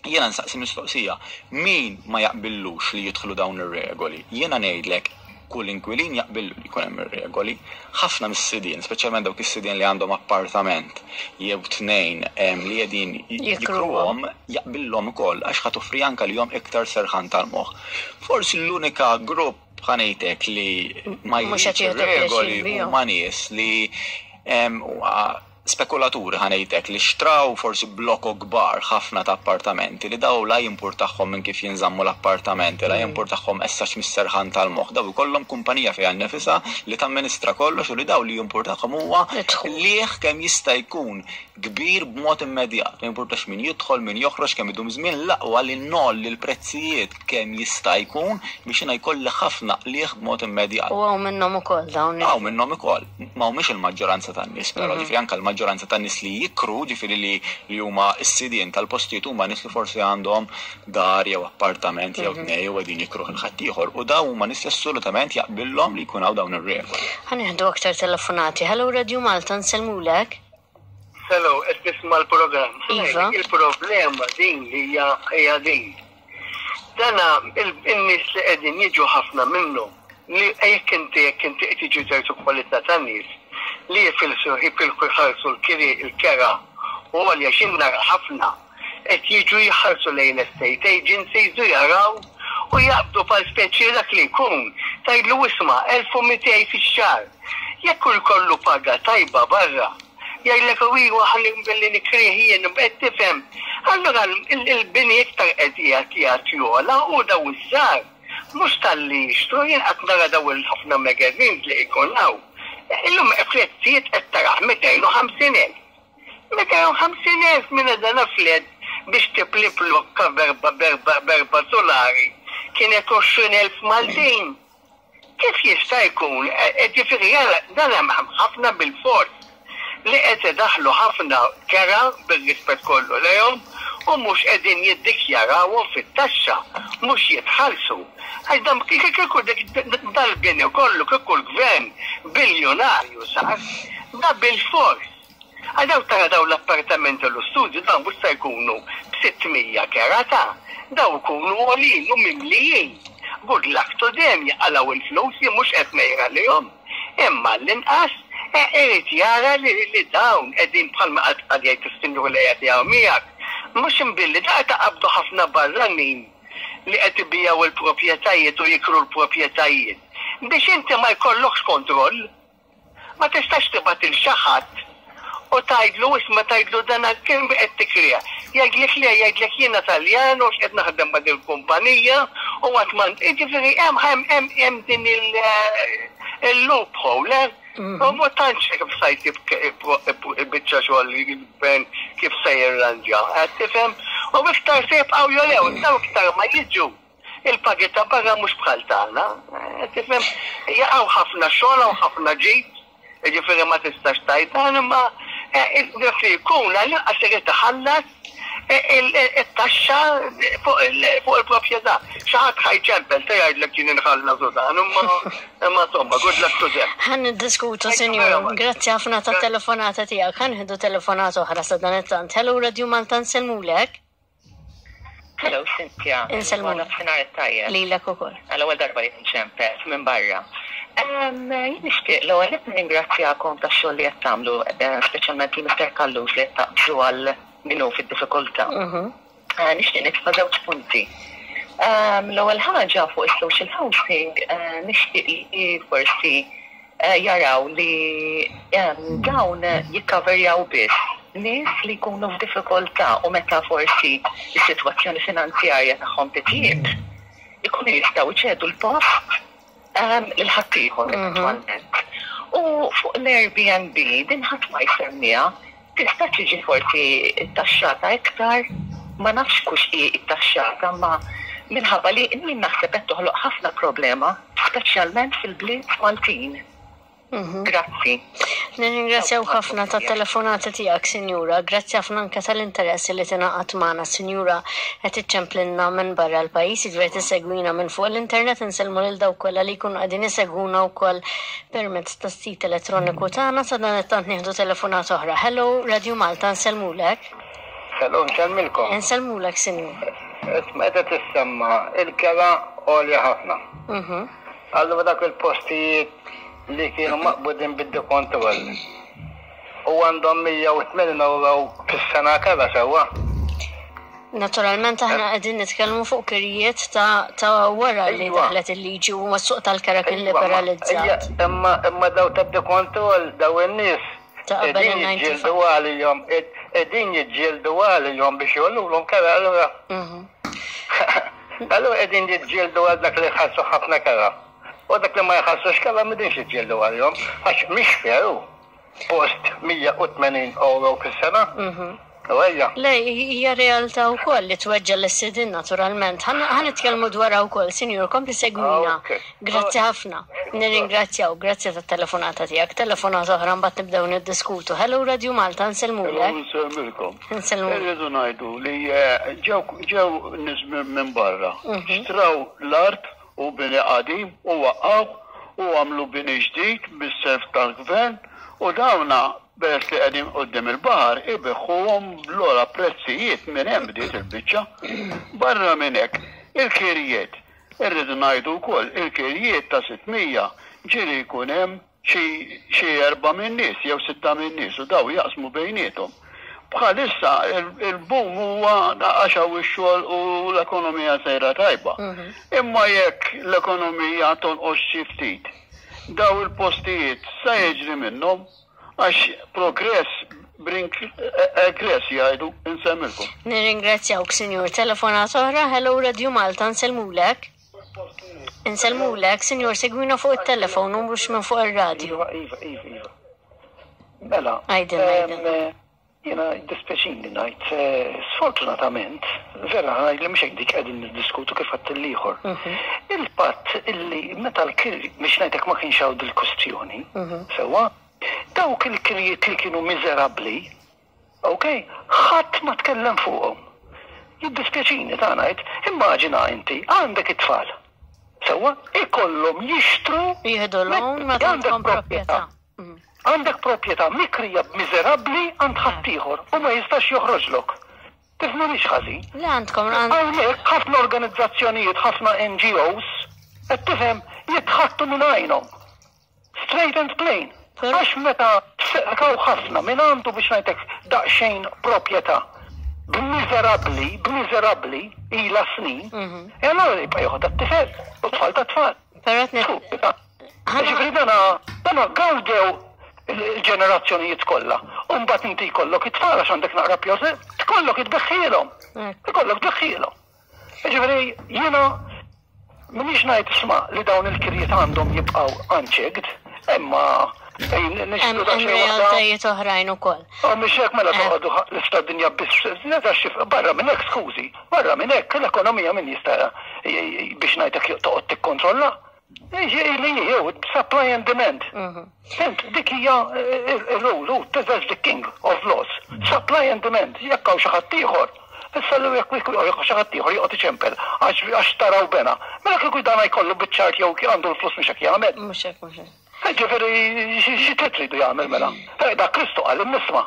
jiena nsaqsi mistoqsija, min ma jaqbillux li jidħlu dawn ir-regoli? Jiena ngħidlek kull inkwilin jaqbillu li jkun hemm ir-regoli. Ħafna mis-sidien, speċjalment dawk is-sidien li għandhom appartament jew tnejn li qegħdin jikruhom, jaqbillhom ukoll għax ħa toffri anke lilhom iktar serħan tal-moħħ. Forsi l-unika grupp ħa ngħidlek li ma jridx ir-regoli huma nies li spekulaturi ħa ngħidlek li xtraw forsi blokok kbar ħafna ta' appartamenti li daw la jimpurtahom minn kif jinżammu l-appartamenti, la jimpurtahom essax mis-serħan tal-moħħ. Daw ikollhom kumpanija fiha nnifisha li tamministra kollox u li daw li jimpurtahom huwa qligħ kemm jista' jkun kbir b'mod immedjat. Ma jimpurtax min jidħol, min joħroġ, kemm idum żmien, l-aqwa li ngħolli l-prezzijiet kemm jista' jkun biex jiena jkolli ħafna qligħ b'mod immedjat. U hawn minnhom ukoll dawn. Hawn minnhom ukoll. Ma humiex il-maġġoranza tan-nies, però ġifieri anke l-maġġoranza tan-nies li jikru, ġifieri li li huma s-sidien tal-postijiet huma nies li forsi għandhom dar jew appartament jew tnejn u qegħdin jikruh lil ħaddieħor u dawn huma nies li assolutament jaqbillhom li jkun hawn dawn ir-regoli. Ħa nieħdu aktar telefonati. Hello Radio Malta, nsellmulek. Hello, qed nisma' l-programm. Iva. Il-problema din li hija hija din. Dana in-nies li qegħdin jiġu ħafna minnhom li jekk inti jekk inti qed jiġu ċertu kwalità tan-nies li jifilsu jifilku jħallsu l-kiri il-kera u għalja xinnar ħafna qed jiġu jħallsu lejn l-estate agencies u jaraw u jaqbdu pal speċi dak li jkun tgħidlu isma' elf u mitejn fix-xahar. Jekk hu jkollu paga tajba barra, jgħidlek u iwa ħalli billi nikrih jien qed tifhem. Allura il-bini iktar qed qiegħed jagħti jogħla u daw iż-żgħar mhux talli jixtru, jien qatt nara daw il-ħafna magazines li jkun hawn. Illum prezzijiet qed taraħ mitejn u ħamsin elf. Mitejn u ħamsin elf minn dan flet biex tipli blokka berba, berba, berba solari kienet għoxrin elf Maltin. Kif jista' jkun? E, e, ġifieri jara, dan hemm ħafna bil-fors li qed idaħħlu ħafna kera bir-rispett kollu lejhom u mhux qegħdin jiddikjarawhom fit-taxxa, mhux jitħallsu. Għax dan kieku dal-bini kollu kieku l-gvern biljonarju sar, da bil-fors. Għax daw tara daw l-appartamenti u l-istudju dawn mhux se jkunu b'sitt mija kera ta' daw ikunu għolin u mimlijin. Good luck to them jaqalgħu il-flus li mhux qed ngħid għalihom. Imma l-inqas irid jara li, li dawn qegħdin bħalma qed qed jgħid is-sinjur li qed jgħid miegħek. Mhux imbilli da taqabdu ħafna barranin li qed ibijaw il-proprjetajiet u jikru l-proprjetajiet. Biex inti ma jkollokx kontroll, ma tistax tibgħat lil xi ħadd u tgħidlu isma' tgħidlu dan kien qed tikrija. Jgħidlek le, jgħidlek jiena Taljan u x'qed naħdem ma' din kumpanija u għat man, jiġifieri hemm hemm hemm hemm din il-loophole, eh? U ma tantx kif sa jsib biċċa xogħol il-gvern kif se jirranġa, qed tifhem? U iktar se jibqgħu jolew, daw iktar ma jiġu. Il-pagi ta' barra mhux bħal tagħna, qed tifhem? Jaqgħu ħafna xogħol hawn ħafna ġid, jiġifieri ma tistax tgħid dan imma dak li jkun għall-inqas irid iħallas it-taxxa fuq il-proprjetà. Xi ħadd ħa jċempel se jgħidlek jien inħallas u dan, imma imma insomma, good luck to them. Ħa niddiskutu, sinjur. Grazzi ħafna ta' telefonata tiegħek. Ħa nieħdu telefonata oħra sa dan it-tant. Hello, Radio Malta, nsellmulek. Hello, Cynthia. Insellmulek. Nofsinhar it-tajjeb. Lilek ukoll. Għal-ewwel darba li nċempel minn barra. Jien nixtieq l-ewwel qed nirringrazzjakom tax-xogħol li qed tagħmlu, eh, speċjalment lil Mister Callus li qed taqbżu għal min hu fid-diffikultà. Mhm. Eh, Nixtieq nitfa' żewġ punti. L-ewwel ħaġa fuq is-social housing, eh, nixtieq li forsi eh, jaraw li em, dawn jikkaverjaw biss nies li jkunu f'diffikultà u meta forsi is-sitwazzjoni finanzjarja tagħhom titjib, ikunu jistgħu jċedu l-post um, lil ħaddieħor eventwalment. U fuq l-Airbnb din ħadd ma jsemmiha, tista' tiġi forsi taxxata iktar, ma nafx kux hi taxxata, ma minħabba li min naħseb qed toħloq ħafna problema, speċjalment fil-bliet Maltin. Grazzi. Nirringrazzjaw ħafna ta' telefonata tiegħek, Sinjura. Grazzi ħafna anke tal-interess li tingħaqad magħna, Sinjura. Qed iċċemplinna minn barra l-pajjiż, jiġifieri tissegwina minn fuq l-internet, insellmu lil dawk kollha li jkunu qegħdin isegwuna wkoll permezz tas-sit elettroniku tagħna. Sa dan it-tant nieħdu telefonata oħra. Hello, Radio Malta, nsellmulek. Hello, nsellmilkom. Insellmulek, Sinjura. Isma' qed tissemma il-kera għolja ħafna. Mhm. Allura dak il-postijiet li kienu maqbudin bid-dekontroll u għandhom mija u tmenin euro fis-sena kera sewwa. Naturalment aħna qegħdin nitkellmu fuq kirjiet ta' ta' wara li Iva. daħlet il-liġi u s-suq tal-kera kien Iva, ma- liberalizzat. ija, Imma imma daw tad-dekontroll daw in-nies Ta' qabel qegħdin il-disgħa u disgħin. jiġġieldu għalihom qegħdin jiġġieldu għalihom biex jgħollulhom kera allura. Mhm. Allura qegħdin jiġġieldu għal dak li jħallsu ħafna kera. U dak li ma jħallsux kera m'qegħdinx jiġġieldu għalihom għax mhix fair post mija u tmenin euro fis-sena. Mhm. U ejja. Le, hija realtà wkoll li tweġġa l-sidin naturalment. Ħa nitkellmu dwarha wkoll, sinjur, kompli segwina. Ok. Grazzi ħafna. Nirringrazzjaw, grazzi tat-telefonata tiegħek. Telefonata oħra mbagħad nibdew niddiskutu. Hello, Radio Malta, nsellmulek. Nsellmilkom. Nsellmulek. Irridu ngħidu li eh, ġew ġew nies minn minn barra. Xtraw l-art u bini qadim u waqqaw u għamlu bini ġdid bis-self tal-gvern u dawna peress li qegħdin quddiem il-baħar ibigħuhom bl-ogħla prezzijiet minn hemm bdiet il-biċċa. Barra minn hekk, il-kirjiet. Irridu ngħidu wkoll il-kirjiet ta' sitt mija ġieli jkun hemm xi xi erba' minn nies jew sitta minn nies u daw jaqsmu bejniethom. Bħalissa il- il-boom huwa għax hawn ix-xogħol u l-ekonomija sejra tajba. Imma jekk l-ekonomija tonqos xi ftit, daw il-postijiet sa jiġri minnhom għax progress brings egress jgħidu. Insellmilkom. Nirringrazzjawk, sinjur. Telefonata oħra, hello, Radio Malta, nsellmulek. Insellmulek, sinjur, segwina fuq il-telefon u mhux minn fuq il-radio. Iva, Iva, Iva, Iva. Mela, Għidilna, em, għidilna. eh, Jiena dispjaċini ngħid, eh, sfortunatament, vera ngħid li mhux hekk dik qegħdin niddiskutu kif għadt l-ieħor. Il-fatt illi meta l-kiri, biex ngħidlek ma kienx hawn dil-kustjoni, sewwa, dawk il-kirjiet li kienu miżerabbli, ok, ħadd ma tkellem fuqhom. Jiddispjaċini ta' ngħid, immaġina inti għandek it-tfal. Sewwa, ikollhom jixtru Jieħdu loan meta għandek għandkom proprjetà. Għandek proprjetà mikrija b'miżerabbli għand ħaddieħor u ma jistax joħroġlok. Tifhimnix ħażin. Le għandkom għand Hawnhekk ħafna organizzazzjonijiet, ħafna N G Os, qed tifhem jitħattu minn għajnhom. Straight and plain. Però- Għax meta tfekaw ħafna minn għandu biex ngħidlek daqsxejn proprjetà b'miżerabbli, b'miżerabbli ila snin, e allora jibqa' joħodha t-tifel u tfal ta' tfal. Però qed Fu, Ġifieri dana dana gawdew il-ġenerazzjonijiet kollha. U mbagħad inti jkollok it-tfal għax għandek naqra pjosi, tkollok itbeħħilhom. Ikollok tbeħħilhom. Ġifieri jiena m'iniex ngħid isma' li dawn il-kirjiet għandhom jibqgħu unchecked, imma Hemm realtajiet oħrajn ukoll. Oh, mhix hekk mela toqgħodu l-istra dinja biss, barra minn hekk skużi, barra minn hekk l-ekonomija min jista' biex ngħidlek toqgħod tikkontrolla. Li jew supply and demand. Fhimt, dik hija il-rule, that's the king of laws. Supply and demand, jekk hawn xi ħadd ieħor. Issa li jekk xi ħadd ieħor joqgħod iċempel għax taraw bena. Mela kieku dan jkollu biċ-ċart jew għandu l-flus mhux hekk jagħmel. Mhux hekk, mhux hekk. Ġifieri xi tridu jagħmel mela? Da Kristu qal nisma'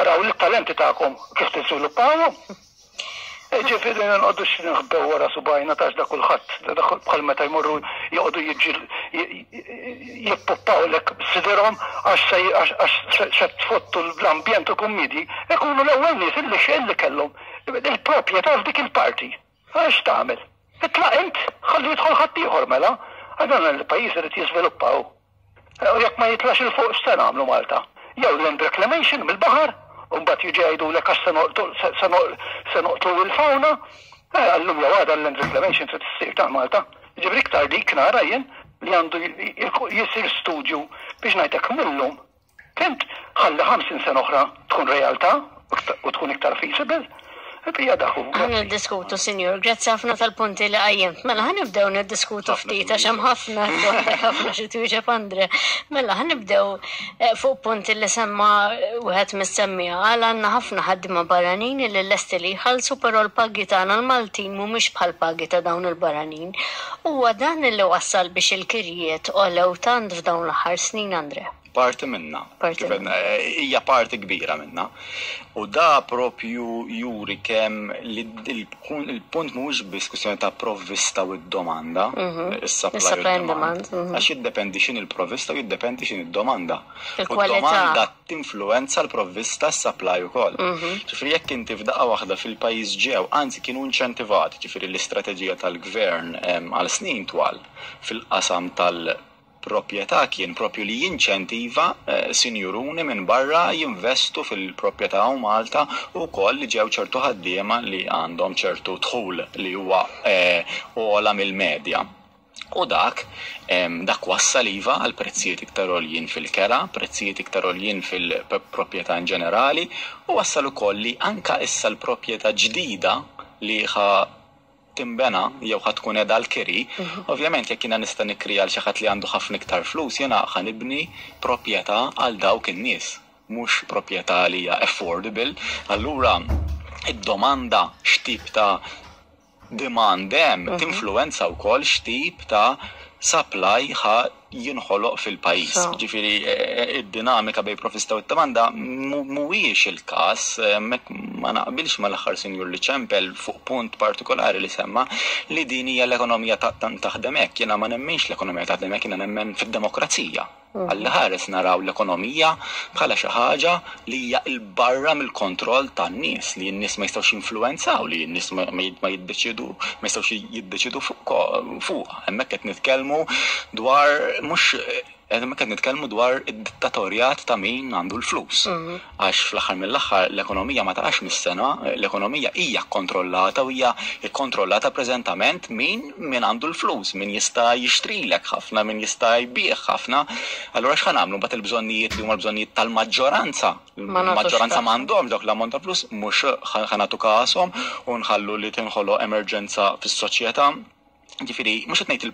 araw l-talenti tagħkom kif tiżviluppawhom. Ġifieri nqogħdux nħbew wara subajna tax da kulħadd, bħal meta jmorru joqogħdu jiġi jippuppawlek sidirhom għax se tfottu l-ambjent u kummidi, ikunu l-ewwel nies illi illi kellhom il-proprjetà f'dik il-parti. Għax tagħmel? Itlaq int, ħalli jidħol ħadd ieħor mela. Għadan il-pajjiż irid jiżviluppaw. U jekk ma jitlax 'il fuq x'se nagħmlu Malta? Jew land reclamation mill-baħar, u mbagħad jiġi jgħidulek għax se noqtlu il-fauna, għallum jew għada l-land reclamation trid issir ta' Malta. Ġifieri iktar dik nara jien li għandu jisir studju biex ngħidlek millum. Fhimt, ħalli ħamsin sena oħra tkun realtà u tkun iktar feasible. Hija daħu. Ħa niddiskutu, sinjur, grazzi ħafna tal-punti li qajjimt. Mela, ħa nibdew niddiskutu ftit, għax hemm ħafna, ħafna xi twieġeb Andre. Mela, ħa nibdew fuq punti li semma wieħed mis-semmija. Għal għandna ħafna ħaddiema barranin li lesti li jħallsu, però l-pagi tagħna l-Maltin mhumiex bħal pagi ta' dawn il-barranin. Huwa dan li wassal biex il-kirjiet għolew tant f'dawn l-aħħar snin, Andre? Parti minna. Parti minna. Hija parti kbira minna. U da propju juri kemm li il-punt mhuwiex biss kwistjoni ta' provvista u d-domanda, is-supply u demand. Għax jiddependi x'in il-provvista u jiddependi x'in id-domanda. U d-domanda tinfluenza l-provvista s-supply ukoll. Ġifieri jekk inti f'daqqa waħda fil-pajjiż ġew, anzi kienu inċentivati, ġifieri l-istrateġija tal-gvern għal snin twal fil-qasam tal- proprjetà kien propju li jinċentiva sinjuruni minn barra jinvestu fil-proprjetà u Malta u koll li ġew ċertu ħaddiema li għandhom ċertu dħul li huwa ogħla mill-medja. U dak, dak wassal iva għal prezzijiet iktar għoljin fil-kera, prezzijiet iktar għoljin fil-proprjetà in ġenerali, u wassal ukoll li anka issa l-proprjetà ġdida li ħa timbena jew ħa tkun qiegħda l-kiri, ovvjament jekk jiena nista' nikri għal xi ħadd li għandu ħafna iktar flus, jiena ħa nibni proprjetà għal dawk in-nies, mhux proprjetà li hija affordable. Allura id-domanda x'tip ta' demand hemm tinfluwenza wkoll x'tip ta' supply ħa jinħoloq fil-pajjiż. Ġifieri id-dinamika bejn provvista u d-domanda mhuwiex il-każ, hemmhekk ma naqbilx mal-aħħar sinjur li ċempel fuq punt partikolari li semma li din hija l-ekonomija taħdem hekk. Jiena ma nemminx l-ekonomija taħdem hekk, jiena nemmen fid-demokrazija. Għalli ħares naraw l-ekonomija bħala xi ħaġa li hija 'l barra mill-kontroll tan-nies, li n-nies ma jistgħux jinfluwenzaw, li n-nies ma jiddeċidu, ma jistgħux jiddeċidu fuq. Hemmhekk qed nitkellmu dwar mhux hemmhekk qed nitkellmu dwar id-dittatorjat ta' min għandu l-flus. Għax fl-aħħar mill-aħħar l-ekonomija ma taqax mis-sena, l-ekonomija hija kkontrollata u hija kkontrollata preżentament min min għandu l-flus, min jista' jixtrilek ħafna, min jista' jbigħ ħafna. Allura x'ħa nagħmlu mbagħad il-bżonnijiet li huma l-bżonnijiet tal-maġġoranza? Il-maġġoranza m'għandhomx dawk l-ammont ta' flus, mhux ħa nagħtu kashom u nħallu li tinħoloq emerġenza fis-soċjetà. Ġifieri, mhux qed ngħid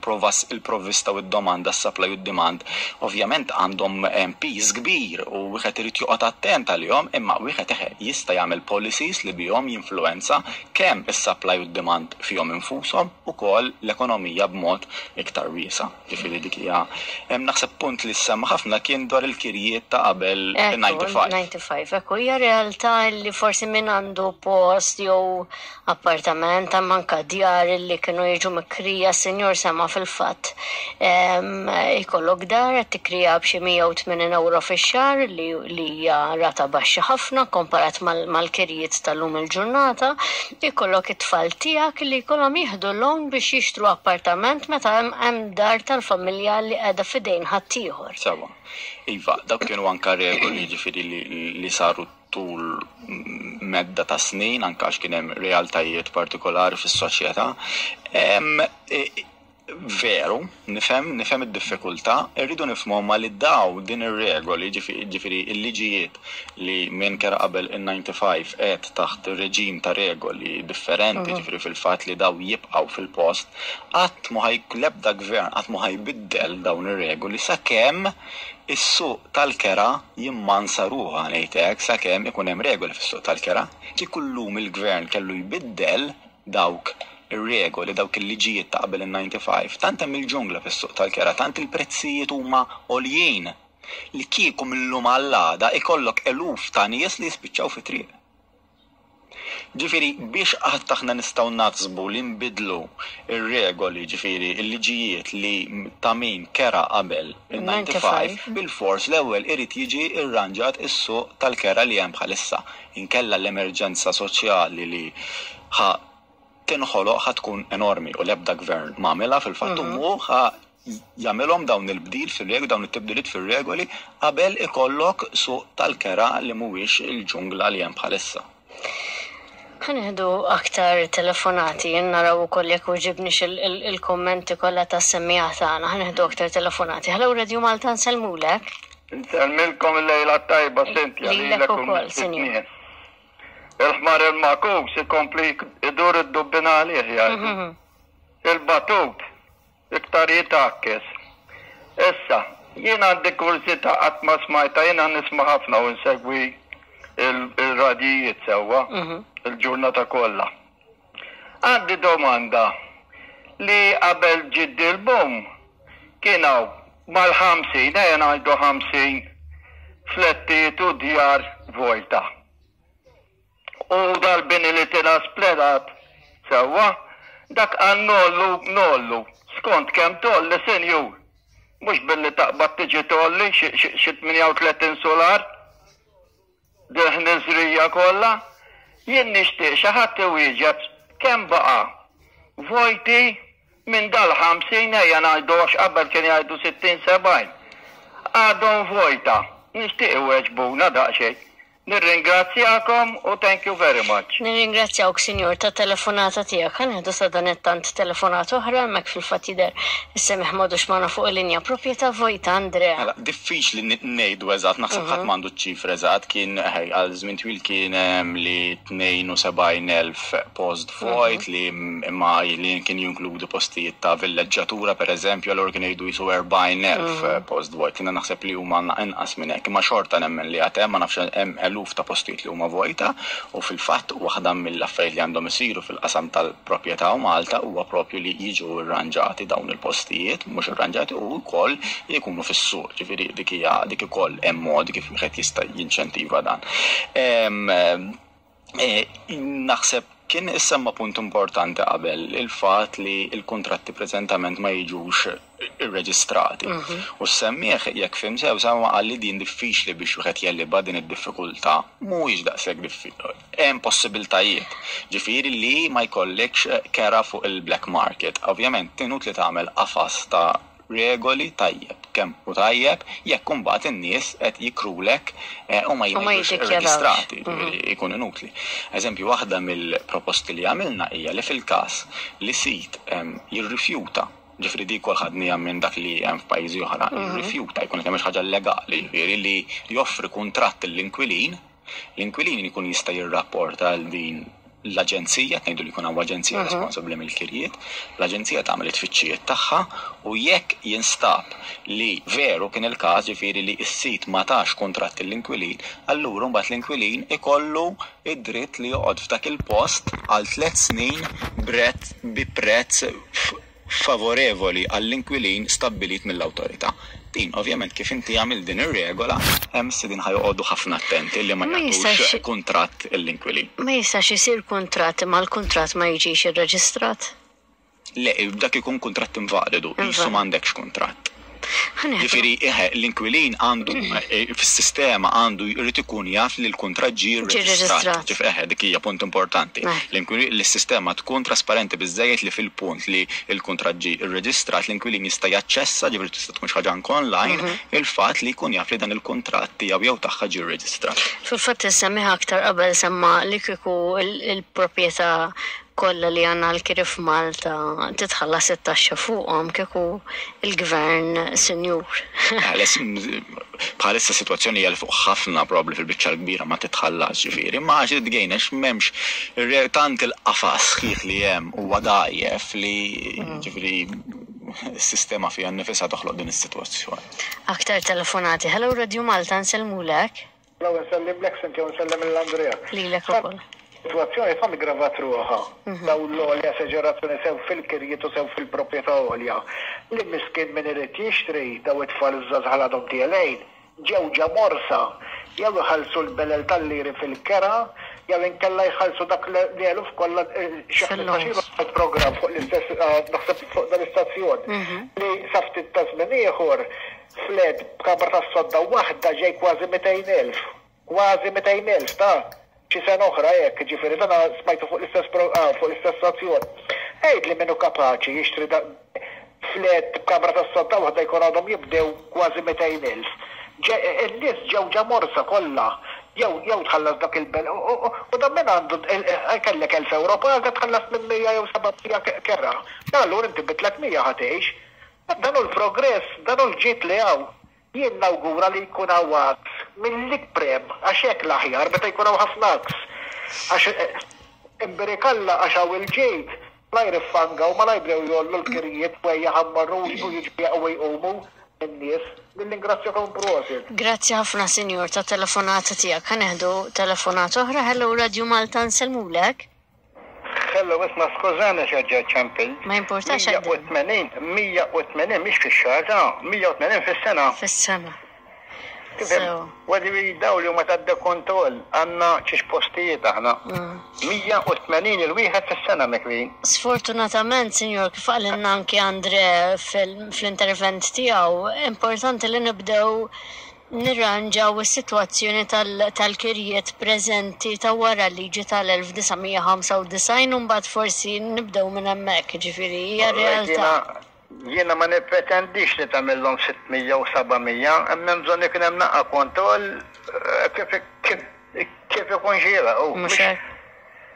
il-provvista u d-domanda, s-supply u d-demand, ovvjament għandhom piż kbir u wieħed irid joqgħod attent għalihom, imma wieħed eħe jista' jagħmel policies li bihom jinfluwenza kemm is-supply u d-demand fihom infushom ukoll l-ekonomija b'mod iktar wiesa'. Ġifieri dik hija naħseb punt li semma ħafna kien dwar il-kirjiet ta' qabel ninety-five. ninety-five, ekku, hija realtà li forsi min għandu post jew appartament anka djar li kienu jiġu mikri tikrija, senjor sema fil-fatt, ikollok dar qed tikrija b'xi mija u tmenin euro fix-xahar, li li hija rata baxxa ħafna komparat mal-kirjiet tal-lum il-ġurnata, ikollok it-tfal tiegħek li jkollhom jieħdu loan biex jixtru appartament meta hemm dar tal-familja li qiegħda f'idejn ħaddieħor. Sewa. Iva, dawk kienu anka regoli, ġifieri li, li saru tul medda ta' snin, anka għax kien hemm realtajiet partikolari fis-soċjetà. Veru, nifhem, nifhem id-diffikultà, irridu nifhmu ma li daw din ir-regoli, ġifieri il-liġijiet li minn kera qabel in-disgħa u disgħin qed taħt reġim ta' regoli differenti, mhm. ġifieri fil-fatt li daw jibqgħu fil-post, qatt mu l-ebda gvern qatt mu ħa jbiddel dawn ir-regoli sakemm is-suq tal-kera jimmansa ruħha, ngħidlek, sakemm ikun hemm regoli fis-suq tal-kera. Kieku llum il-gvern kellu jbiddel dawk ir-regoli, dawk il-liġijiet ta' qabel il-disgħa u disgħin, tant hemm il-ġungla fis-suq tal-kera, tant il-prezzijiet huma għoljien li kieku mill-lum għall-għada ikollok eluf ta' nies li jispiċċaw fi triq. Ġifieri, biex qatt aħna nistgħu naħsbu li nbidlu ir-regoli, ġifieri il-liġijiet li ta' min kera qabel il-disgħa u disgħin, bil-fors l-ewwel irid jiġi irranġat is-suq tal-kera li hemm bħalissa. Inkella l-emerġenza soċjali li ħa tinħoloq ħa tkun enormi u l-ebda gvern m'għamilha fil-fatt mhm. hu ħa jagħmilhom dawn il-bdil fir-regoli, dawn it-tibdiliet fir-regoli qabel ikollok suq tal-kera li mhuwiex il-ġungla li hemm bħalissa. Ħa nieħdu aktar telefonati, naraw ukoll jekk uġibniex il-kommenti kollha tas-semmiegħa tagħna. Ħa nieħdu aktar telefonati. Hello, Radio Malta, nsellmulek. Nsellmilkom, il-lejla tajba, Cynthia. Lilek ukoll, sinjur. Il-ħmar il-magħkus ikompli idur id-dubbina għalih, jgħidu. Mhm. Il-batut iktar jitgħakkes. Issa, jien għandi kurżità qatt ma smajta, jiena nisma' ħafna u nsegwi il-radijiet sewwa mhm. il-ġurnata kollha. Għandi domanda li qabel ġiddi l-boom kien hawn mal-ħamsin, ejja ngħidu ħamsin flettijiet u djar vojta. U dal-bini li tila spledat sewwa, dak għan nollu nollu, skont kemm tolli, senjur. Mhux billi taqbad tiġi tolli xi tmienja u tletin solar, dil-ħniżrija kollha, jien nixtieq xi ħadd iwieġeb kemm baqa' vojti minn dal-ħamsin, ejja ngħidu, għax qabel kien jgħidu sittin sebgħin. Għadhom vojta, nixtieq iweġbuna daqsxejn. Nirringrazzjakom u thank you very much. Nirringrazzjawk, sinjur, ta' telefonata tiegħek. Ħa nieħdu sadanittant telefonata oħra hemmhekk, fil-fatt jidher is-semmiegħ m'għadux magħna fuq il-linja. Proprjetà vojta, Andrea. Mela, diffiċli ngħidu eżatt, naħseb ħadd m'għandu ċifra eżatt, kien għal żmien twil kien li tnejn u sebgħin elf post vojt, li imma li kien jinkludu postijiet ta' villeġġatura pereżempju, allura kien jgħidu jisu erbgħin elf post vojt. Jiena naħseb li huma inqas minn hekk, imma xorta nemmen li għad hemm, ma nafx, hemm eluf ta' postijiet li huma vojta u fil-fatt waħda mill-affarijiet li għandhom isiru fil-qasam tal-proprjetà u Malta huwa propju li jiġu irranġati dawn il-postijiet, mhux irranġati u wkoll jkunu fis-suq. Ġifieri dik hija dik ukoll hemm modi kif wieħed jista' jinċentiva dan. E, naħseb kien issemma punt importanti qabel, il-fatt li il-kontratti preżentament ma jiġux irreġistrati. Mhm. U semmiegħ, jekk fhimt sew, semma qal li din diffiċli biex wieħed jegħlibha din id-diffikultà. Mhuwiex daqshekk diffiċli. Hemm possibiltajiet. Ġifieri li ma jkollekx kera fuq il-black market. Ovvjament tinut li tagħmel qafas ta' regoli tajjeb, kemm u tajjeb, jekk imbagħad in-nies qed jikrulek eh, u ma jiġux irreġistrati, mhm. ikun inutli. Eżempju, waħda mill-proposti li għamilna hija li fil-każ li sit jirrifjuta, ġifieri di kol ħadnija minn dak li hemm f'pajjiżi oħra, mhm. jirrifjuta, jkun qed jagħmel ħaġa legali, ġifieri li joffri kuntratt l-inkwilin, l-inkwilin ikun jista' jirrapporta għal din l-aġenzija, ngħidu li jkun hawn aġenzija mhm. responsabbli mill-kirjiet, l-aġenzija tagħmel it-tfittxijiet tagħha u jekk jinstab li veru kien il-każ, ġifieri li s-sit ma tax kuntratt l-inkwilin, allura mbagħad l-inkwilin ikollu id-dritt li joqgħod f'dak il-post għal tliet snin brett bi prezz favorevoli għall-inkwilin stabbilit mill-awtorità. Din, ovvjament, kif inti għamil din ir-regola, hemm sidin ħa joqogħdu ħafna attenti li ma jagħtux kuntratt l-inkwilin. Ma jistax isir kuntratt imma l-kuntratt ma jiġix irreġistrat? Le, dak ikun kuntratt invalidu, qisu m'għandekx kuntratt. Ġifieri, l-inkwilin għandu fis-sistema għandu jrid ikun jaf li l-kuntratt ġie rreġistrat. Ġifieri, eħe, dik hija punt importanti. L-sistema tkun trasparenti biżżejjed li fil-punt li l-kuntratt ġie rreġistrat, l-inkwilin jista' jaċċessa, ġifieri tista' tkun xi ħaġa anke online, il-fatt li jkun jaf li dan il-kuntratt tiegħu jew tagħha ġie rreġistrat. Fil-fatt issemmiha aktar qabel semma li kieku il-proprjetà kollha li għandna l-kiri f'Malta titħallas it-taxxa fuqhom kieku il-gvern sinjur. Bħalissa sitwazzjoni hija li fuq ħafna probabbli fil-biċċa l-kbira ma titħallas, ġifieri, ma għax tgejnex m'hemmx tant il-qafas sħiħ li hemm huwa dgħajjef li ġifieri s-sistema fiha nnifisha toħloq din is-sitwazzjoni. Aktar telefonati. Hello Radio Malta, nsellmulek. Hello, nsellimlek Cynthia u nsellem lil Andrea. Lilek ukoll. Situazzjoni tant gravat ruħha, daw l-għolja esaġerazzjoni sew fil-kirjiet u sew fil-proprjetà għolja. Li miskin min irid jixtri daw it-tfal iż-żgħażagħ għadhom tielgħin, ġew ġa morsa, jew iħallsu l-belel tal-liri fil-kera, jew inkella jħallsu dak li eluf kollha xi ħmistax programm fuq l-istess naħseb fuq dan l-istazzjon. Li sa ftit ta' żmien ieħor flet b'kamra tas-sodda waħda ġej kważi mitejn elf. Kważi mitejn elf ta' xi sena oħra hekk, ġifieri dan smajtu fuq l-istess fuq l-istess stazzjon. Għid li min hu kapaċi jixtri flet b'kamra tas-sodda waħda jkun għadhom jibdew kważi mitejn elf. In-nies ġew ġa morsa kollha, jew jew tħallas dak il-bel u dan min għandu kellek elf euro paga tħallas minn mija jew seba' mija kera. Allura inti bi tliet mija ħa tgħix. Dan hu l-progress, dan hu l-ġid li hawn. Jien nawgura li jkun hawn għaks mill-ikprem, għax hekk l-aħjar meta jkun hawn ħafna għaks. Għax imbirikalla għax hawn il-ġid, ma jriffangaw, ma jibdew jollu l-kirjiet wejja ħammarru u jiġu jaqgħu jqumu in-nies. Nirringrazzjakom prosit. Grazzi ħafna sinjur ta' telefonata tiegħek. Ħa neħdu telefonata oħra. Hello Radio Malta, nsellmulek. Hello, isma' skużani x'ġa ċempil. Ma importax. mija u tmenin, mija u tmenin mhix fix-xahar, ta' mija u tmenin fis-sena. Fis-sena. Għadi daw li huma tadda kontroll għandna xiex postijiet aħna. mija u tmenin il-wieħed fis-sena mekrin. Sfortunatament, sinjor, kif qalilna anki Andre fl-intervent tiegħu, importanti li nibdew nirranġaw is-sitwazzjoni tal-kirjiet preżenti ta' wara l-liġi tal-elf disa' mija ħamsa u disgħin u mbagħad forsi nibdew minn hemmhekk, ġifieri hija realtà. Jiena ma nippretendix li tagħmilhom sitt mija u seba' mija, imma hemm bżonn ikun hemm naqa' kontroll kif ikun xieraq. Mhux hekk.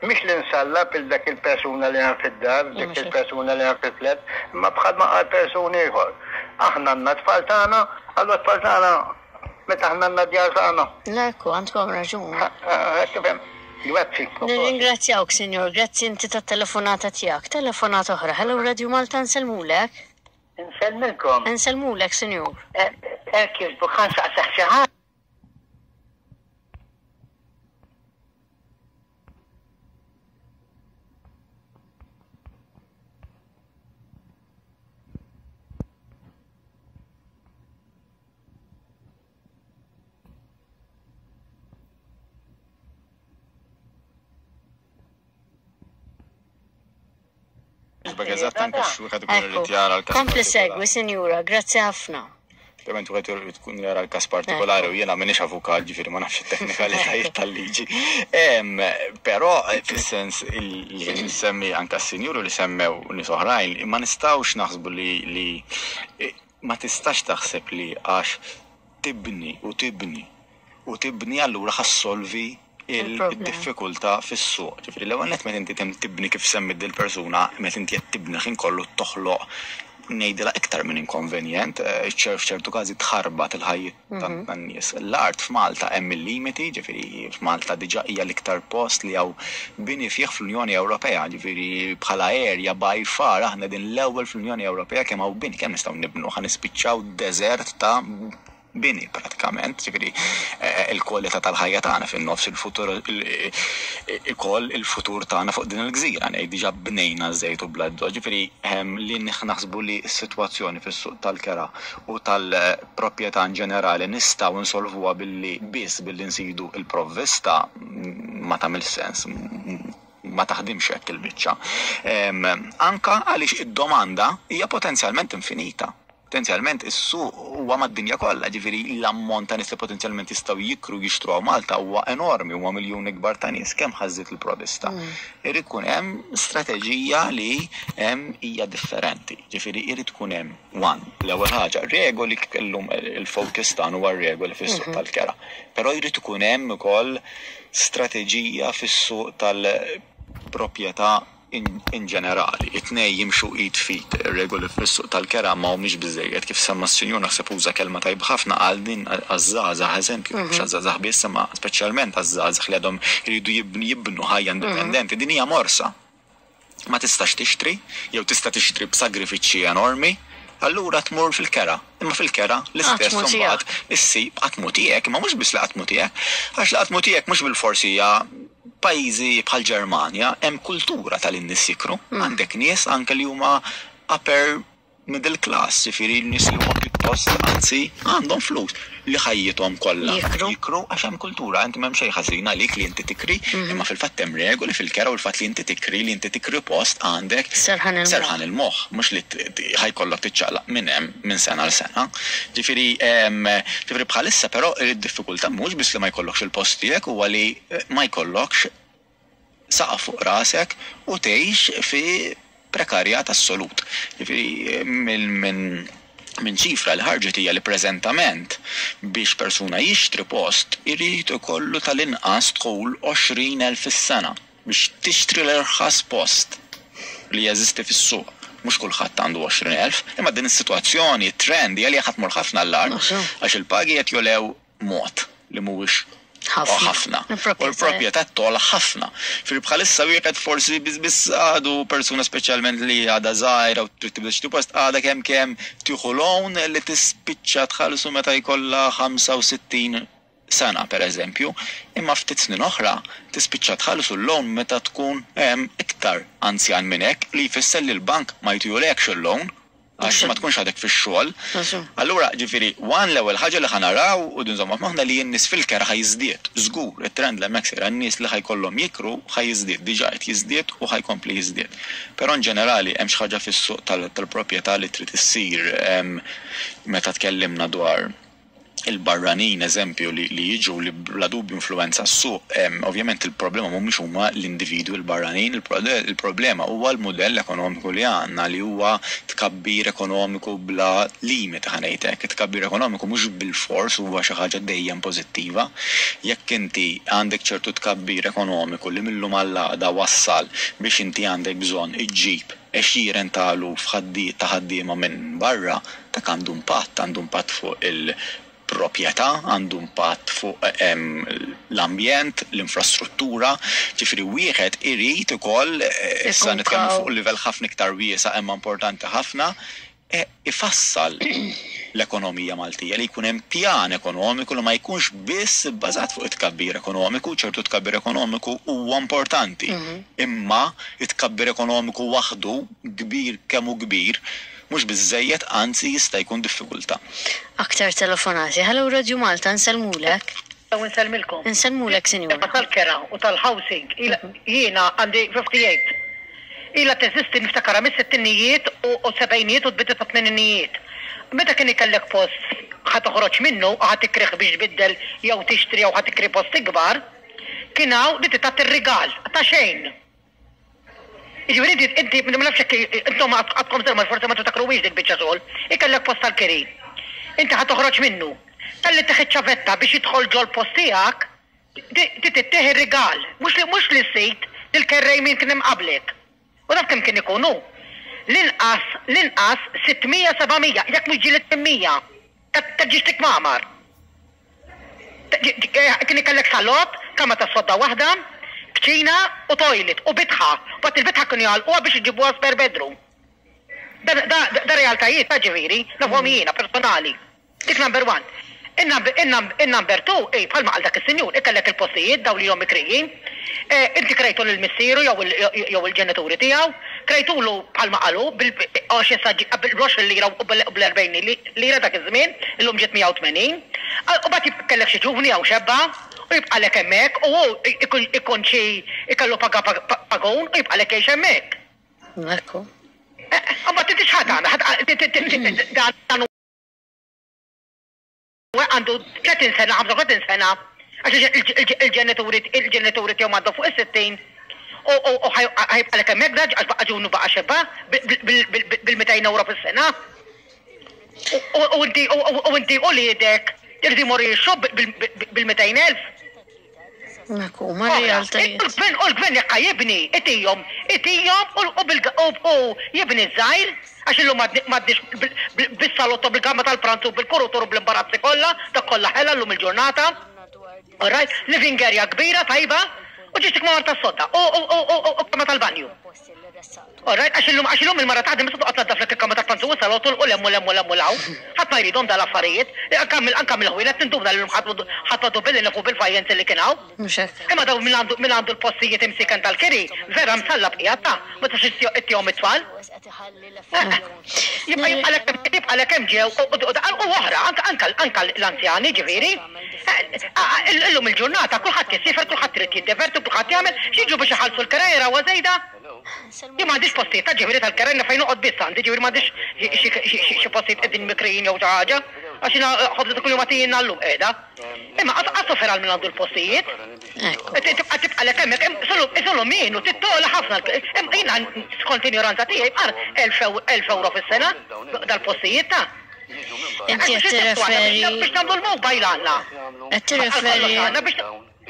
Mhix li nsallab il dak il-persuna li hemm fid-dar, dik il-persuna li hemm fil-flet, imma bħal ma qal persuni ieħor. Aħna għandna tfal tagħna, allura tfal tagħna meta aħna għandna djar tagħna. Ekku, għandkom raġun. Tifhem. Grazzi. Nirringrazzjawk, sinjor, grazzi inti tat-telefonata tiegħek. Telefonata oħra. Hello Radio Malta, nsellmulek. Nsellmilkom. Nsellmulek, sinjur. Hekk jogħġbok, ħa nsaqsih xi ħaġa. Kompli segwi, sinjura, grazzi ħafna. Ovvjament wieħed irid tkun jara l-każ partikolari u jiena m'iniex avukat, ġifieri ma nafx it-teknikalitajiet tal-liġi. Però fis-sens li nsemmi anke s-sinjuru li semmew nies oħrajn, ma nistgħux naħsbu li ma tistax taħseb li għax tibni u tibni u tibni allura ħassolvi il-diffikultà fis-suq. Ġifieri l-ewwel nett meta inti tibni kif semmit dil-persuna, meta inti qed tibni ħin kollu toħloq ngħidilha iktar minn inkonvenjent, f'ċertu każi tħarbat il-ħajjiet tan-nies. L-art f'Malta hemm il-limiti, ġifieri f'Malta diġà hija l-iktar post li hawn bini fih fl-Unjoni Ewropea, ġifieri bħala area by far aħna din l-ewwel fl-Unjoni Ewropea kemm hawn bini, kemm nistgħu nibnu, ħa nispiċċaw deżert ta' bini pratikament, ġifieri il-kwalità tal-ħajja tagħna fin-nofs il-futur ikoll il-futur tagħna fuq din il-gżira, ngħid diġà bnejna żejt u bladdo, ġifieri li naħsbu li s-sitwazzjoni fis-suq tal-kera u tal-proprjetà in ġenerali nistgħu nsolvuha billi biss billi nsidu il-provvista ma tagħmilx sens. Ma taħdimx hekk il-biċċa. Anka għaliex id-domanda hija potenzjalment infinita. Potenzjalment is-suq huwa mad-dinja kollha, ġifieri l-ammont ta' nies li potenzjalment jistgħu jikru, jixtru hawn Malta huwa enormi, huwa miljuni kbar ta' nies, kemm ħa żżid il-provista. Irid ikun hemm strateġija li hemm hija differenti. Ġifieri irid ikun hemm one, l-ewwel ħaġa, regoli. Kellhom il-focus tagħna huwa regoli fis-suq tal-kera. Però jrid ikun hemm ukoll strateġija fis-suq tal-proprjetà in, in ġenerali. It-tnejn jimxu id f'id. Regoli fis-suq tal-kera ma humiex biżejjed. Kif semma s-sinjur, naħseb uża kelma tajba ħafna, għal din għaż-żgħażagħ eżempju, mhux għaż-żgħażagħ biss, imma speċjalment għaż-żgħażagħ li għadhom jridu jibnu, jibnu ħajja indipendenti. Din hija morsa. Ma tistax tixtri, jew tista' tixtri b'sagrifiċċji enormi, allura tmur fil-kera. Imma fil-kera l-istess Qatt mhu mbagħad issib qatt mhu tiegħek, imma mhux biss li qatt mhu tiegħek, għax li qatt mhu tiegħek mhux bil-forsi hija. Pajjiżi bħal Ġermanja hemm kultura tal-in-nies jikru. Għandek nies anke li huma upper middle class, ġifieri nies li huma pjuttost anzi għandhom flus li ħajjithom kollha Jikru. Jikru għax hemm kultura, inti m'hemm xejn ħażin għalik li inti tikri, imma fil-fatt hemm regoli fil-kera u l-fatt li inti tikri li inti tikri post għandek Serħan il-moħħ. Serħan il-moħħ, mhux li t- t- ħa jkollok tiċċaqlaq minn hemm minn sena għal sena. Ġifieri em, ġifieri bħalissa però id-diffikultà mhux biss li ma jkollokx il-post tiegħek, huwa li eh, ma jkollokx saqaf fuq rasek u tgħix fi prekarjat assolut. Ġifieri minn minn minn ċifra li ħarġet hija li preżentament biex persuna jixtri post irid ikollu tal-inqas dħul għoxrin elf fis-sena biex tixtri l-irħas post li jeżisti fis-suq. Mhux kulħadd għandu għoxrin elf, imma din is-sitwazzjoni, trend hija li ħa tmur ħafna għall-agħar Maħsub. għax il-pagi qed jogħlew mod li mhuwiex Ħafna. ħafna. U Il-proprjetà. l-proprjetà togħla ħafna. Fil bħalissa wieħed forsi biss biss għadu persuna, speċjalment li għadha żgħira u trid tibda xi post, għadha kemm kemm tieħu loan li tispiċċa tħallsu meta jkollha ħamsa u sittin sena, per eżempju, imma ftit snin oħra tispiċċa tħallsu l-loan meta tkun em, iktar anzjan minn hekk, li jfisser li l-bank ma jtihulekx il-loan għax ma tkunx għadek fix-xogħol. Mażu. Allura, ġifieri, one, l-ewwel ħaġa li ħa naraw u nżommu f'moħħna li n-nies fil-kera ħa jiżdied. Żgur, it-trend l hemmhekk sejra, n-nies li ħa jkollhom jikru ħa jiżdied, diġà qed jiżdied u ħa jkompli jiżdied. Però in ġenerali hemm xi ħaġa fis-suq tal- tal-proprjetà li trid issir em, meta tkellimna dwar il-barranin, eżempju, li, li jiġu li bla dubju influenza s-suq, em, ovvjament il-problema mhumiex huma l-individwi l-barranin, il-pro- il-problema huwa l-modell ekonomiku li għandna, li huwa tkabbir ekonomiku bla limit, ħa ngħidlek. Tkabbir ekonomiku mhux bil-fors huwa xi ħaġa dejjem pożittiva. Jekk inti għandek ċertu tkabbir ekonomiku li mil-lum għal għada wassal biex inti għandek bżonn iġġib għexieren ta' eluf ħaddi- ta' ħaddiema minn barra, dak għandu impatt, għandu impatt fuq il-proprjetà, għandu impatt fuq em, l-ambjent, l-infrastruttura, ġifieri wieħed irid ukoll, eh, issa Ikun nitkellmu kaw. fuq livell ħafna iktar wiesa' imma importanti ħafna, e, ifassal l-ekonomija Maltija, li jkun hemm pjan ekonomiku li ma jkunx biss bbażat fuq it-tkabbir ekonomiku. Ċertu tkabbir ekonomiku huwa importanti. Imma it-tkabbir ekonomiku waħdu, kbir kemm hu kbir, mhux biżejjed, anzi jista' jkun diffikultà. Aktar telefonati. Hello, Radio Malta, nsellmulek. U nsellmilkom. Nsellmulek, sinjura. Tal-kera u tal-housing, ila- jiena għandi ħamsa u ħamsin. Ila teżisti, niftakara, mis-sittinijiet u u sebgħinijiet u l-bidu ta' tmeninijiet. Meta kien ikellek post ħa toħroġ minnu, ħa tikrih biex tbiddel jew tixtri jew ħa tikri post ikbar, kien hawn li tagħti ir-rigal ta' xejn. Jiġifieri inti inti ma nafx jekk intom għadkom żgħar, forsi ma tiftakruhiex dik biċċa xogħol. Ikellek post tal-kiri. Inti ħa toħroġ minnu. Talli tieħu ċavetta biex jidħol ġol post tiegħek, tittieħ ir-rigal, mhux li mhux li sid lil-kerrej min kien hemm qablek. U daf kemm kien ikunu? L-inqas, l-inqas sitt mija seba' mija, jekk mhux ġieli tmien mija. Ta' ġiex kmamar. Kien ikellek salott, kamra ta' sodda waħda, kċina u toilet u bitħa. Bat il-bitħa kienu jagħlquha biex iġibuha spare bedroom. Da, da, da realtajiet ta' ġifieri, nafhom jiena personali. Dik number one. In-number two, ej, bħalma għal dak is-sinjur, ikellek il-postijiet daw li jom mikrijin, inti krejtu lil missieru jew jew il-ġenituri tiegħu, krejtulu bħalma qalu bil-għoxrin lira u bl-erbgħin lira dak iż-żmien, illum ġiet mija u tmenin, u mbagħad kellek xi ġuvni jew xebba, U jibqalek hemmhekk u hu ikun xi ikollu paga pagun u jibqalek jgħix hemmhekk. Ekku. Imbagħad inti x'ħadd tagħmel? Dan għandu tletin sena, ħamsa u tletin sena, għax il-ġenituri il-ġenituri tiegħu m'għandhom fuq is-sittin u ħajbqalek hemmhekk da għax baqa' ġunu baqa' xebba bil-mitejn euro fis-sena. U inti u inti u liedek irridu jmorru jixtru bil-mitejn elf. Ekku, ma realtajiet. U l-gvern jekk jibni, itihom, itihom u jibni żgħir, għax illum m'għadniex bis-salotto, bil-gamma tal-pranzu, bil-kurutur u bl-imbarazzi kollha, dak kollha ħela llum il-ġurnata. All right, living area kbira tajba, u ġistik ma' tas-sodda u kamra tal-banju. All right, għax illum għax illum il-mara taħdem issa toqgħod tnaddaflek il-kamra tal-pranzu u s-salotto u l-hemm u l-hemm u l-hemm u l-hawn. Ħadd ma jridhom dal-affarijiet. Anke mill-ħwienet tinduna li llum ħadd ħadd billi nafu bil-fajjenzi li kien hawn. Mhux hekk. Imma dawn min għandu min għandu l-postijiet imsiken tal-kiri, vera msallab qiegħed ta' ma tistax ittihom it-tfal. Jibqa' jibqalek hemm ġew u oħra anke anke l-anzjani ġifieri. Illum il-ġurnata kulħadd jisiefer, kulħadd irid jiddeverti, kulħadd jagħmel, x'jiġu biex iħallsu l-kera jarawha żejda. Jien m'għandix postijiet ta' ġifieri tal-kera fejn noqgħod biss għandi, ġifieri m'għandix xi postijiet qegħdin mikrijin jew xi ħaġa, għax jiena ħobża ta' kuljum għatijin llum qiegħda. Imma qatt sofer għal min għandu l-postijiet. Tibqa' tibqalek hemmhekk, isolu min u tittola ħafna. Jiena skont injoranza tiegħi bqar elf euro fis-sena dal-postijiet ta'. Inti qed tirreferi biex nagħmlu l-mobile għandna. Qed tirreferi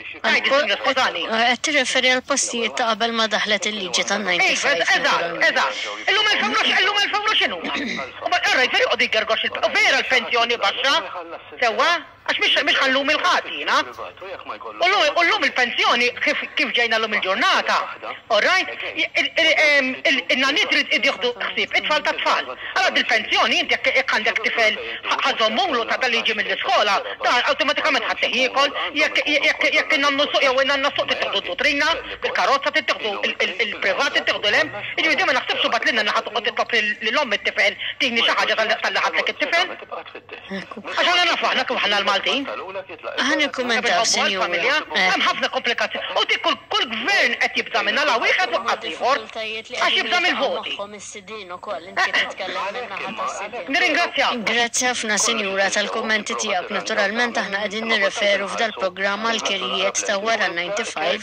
Qed tirreferi għal postijiet ta' qabel ma daħlet il-liġi tan-ninety-five. Eżatt, eżatt. Illum elf euro illum elf euro x'inhu? U vera joqgħod jgergox vera l-pensjoni baxxa, sewwa, għax mhix mhix ħallum il-ħadd jiena. U llum il-pensjoni kif ġejna llum il-ġurnata, all right, in-nanniet irid jieħdu ħsieb it-tfal tat-tfal. Allora dil-pensjoni inti jekk għandek tifel ħa żommulu ta' dal jiġi mill-iskola, dan awtomatikament ħadd jiekol, jekk jekk in-nannu suq jew in-nanna suq tittieħdu d-dutrina, bil-karozza tittieħdu il-privat tittieħdu l-hemm. Jiġifieri ma naħsibx imbagħad lil nanna ħa toqgħod titlob lil omm it-tifel tini xi ħaġa talli ħadlek it-tifel. Għax aħna nafu aħna kif aħna l-Maltin. Ħa nikkummentaw, sinjura. Hemm ħafna komplikazzjoni. U dik kull gvern qed jibża' minnha la wieħed u qatt ieħor għax jibża' mill-voti. Nirringrazzjak. Grazzi ħafna, sinjura, tal-kummenti tiegħek. Naturalment aħna qegħdin nirreferu f'dal-programm għal kirjiet ta' wara ninety-five.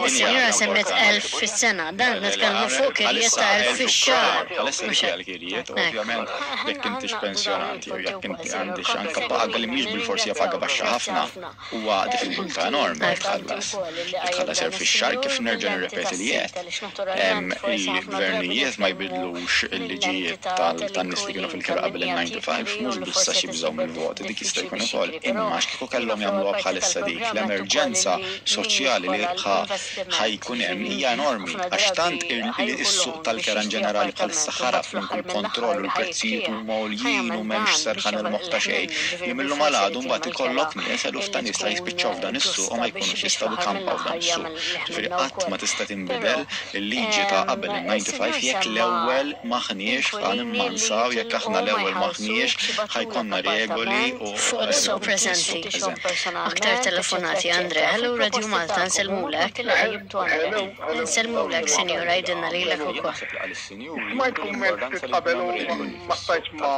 Is-sinjura semmiet elf fis-sena. Dan nitkellmu fuq kirjiet ta' elf fix-xahar. Bħalissa dik hija l-kirjiet, ovvjament jekk intix pensjonanti jew jekk inti għandix anke paga li mhix bilforsi hija paga baxxa ħafna, huwa diffikultà enormi li tħallas. Li tħallas elf fix-xahar kif nerġa' nirrepeti li qed. Il-gvernijiet ma jbidlux il-liġijiet tan-nies li kienu fil-kera qabel il-ninety-five, mhux biss għax jibżgħu mill-voti, dik jista' jkun ukoll, imma għax kieku kellhom jagħmluha bħalissa dik l-emerġenza soċjali li ħajkun hemm hija enormi, għax tant is-suq tal-kera in ġenerali bħalissa ħarab minn kull kontroll u l-prezzijiet huma għoljin u m'hemmx serħan il-moħħ ta' xejn. Li millum għal għadu mbagħad ikollok nies eluf ta' nies li jispiċċaw f'dan is-suq u ma jkunux jistgħu jkampaw f'dan is-suq. Ġifieri qatt ma tista' tinbidel il-liġi ta' qabel il-ninety-five jekk l-ewwel m'aħniex ħa nimmansaw, jekk aħna l-ewwel m'aħniex ħajkonna regoli u fuq is-suq preżenti. Aktar telefonati, Andre. Hello Radio Malta, nsellmulek. Nsellmulek, sinjura, jgħidilna lilek ukoll. Smajt kumment ftit qabel u ma stajtx ma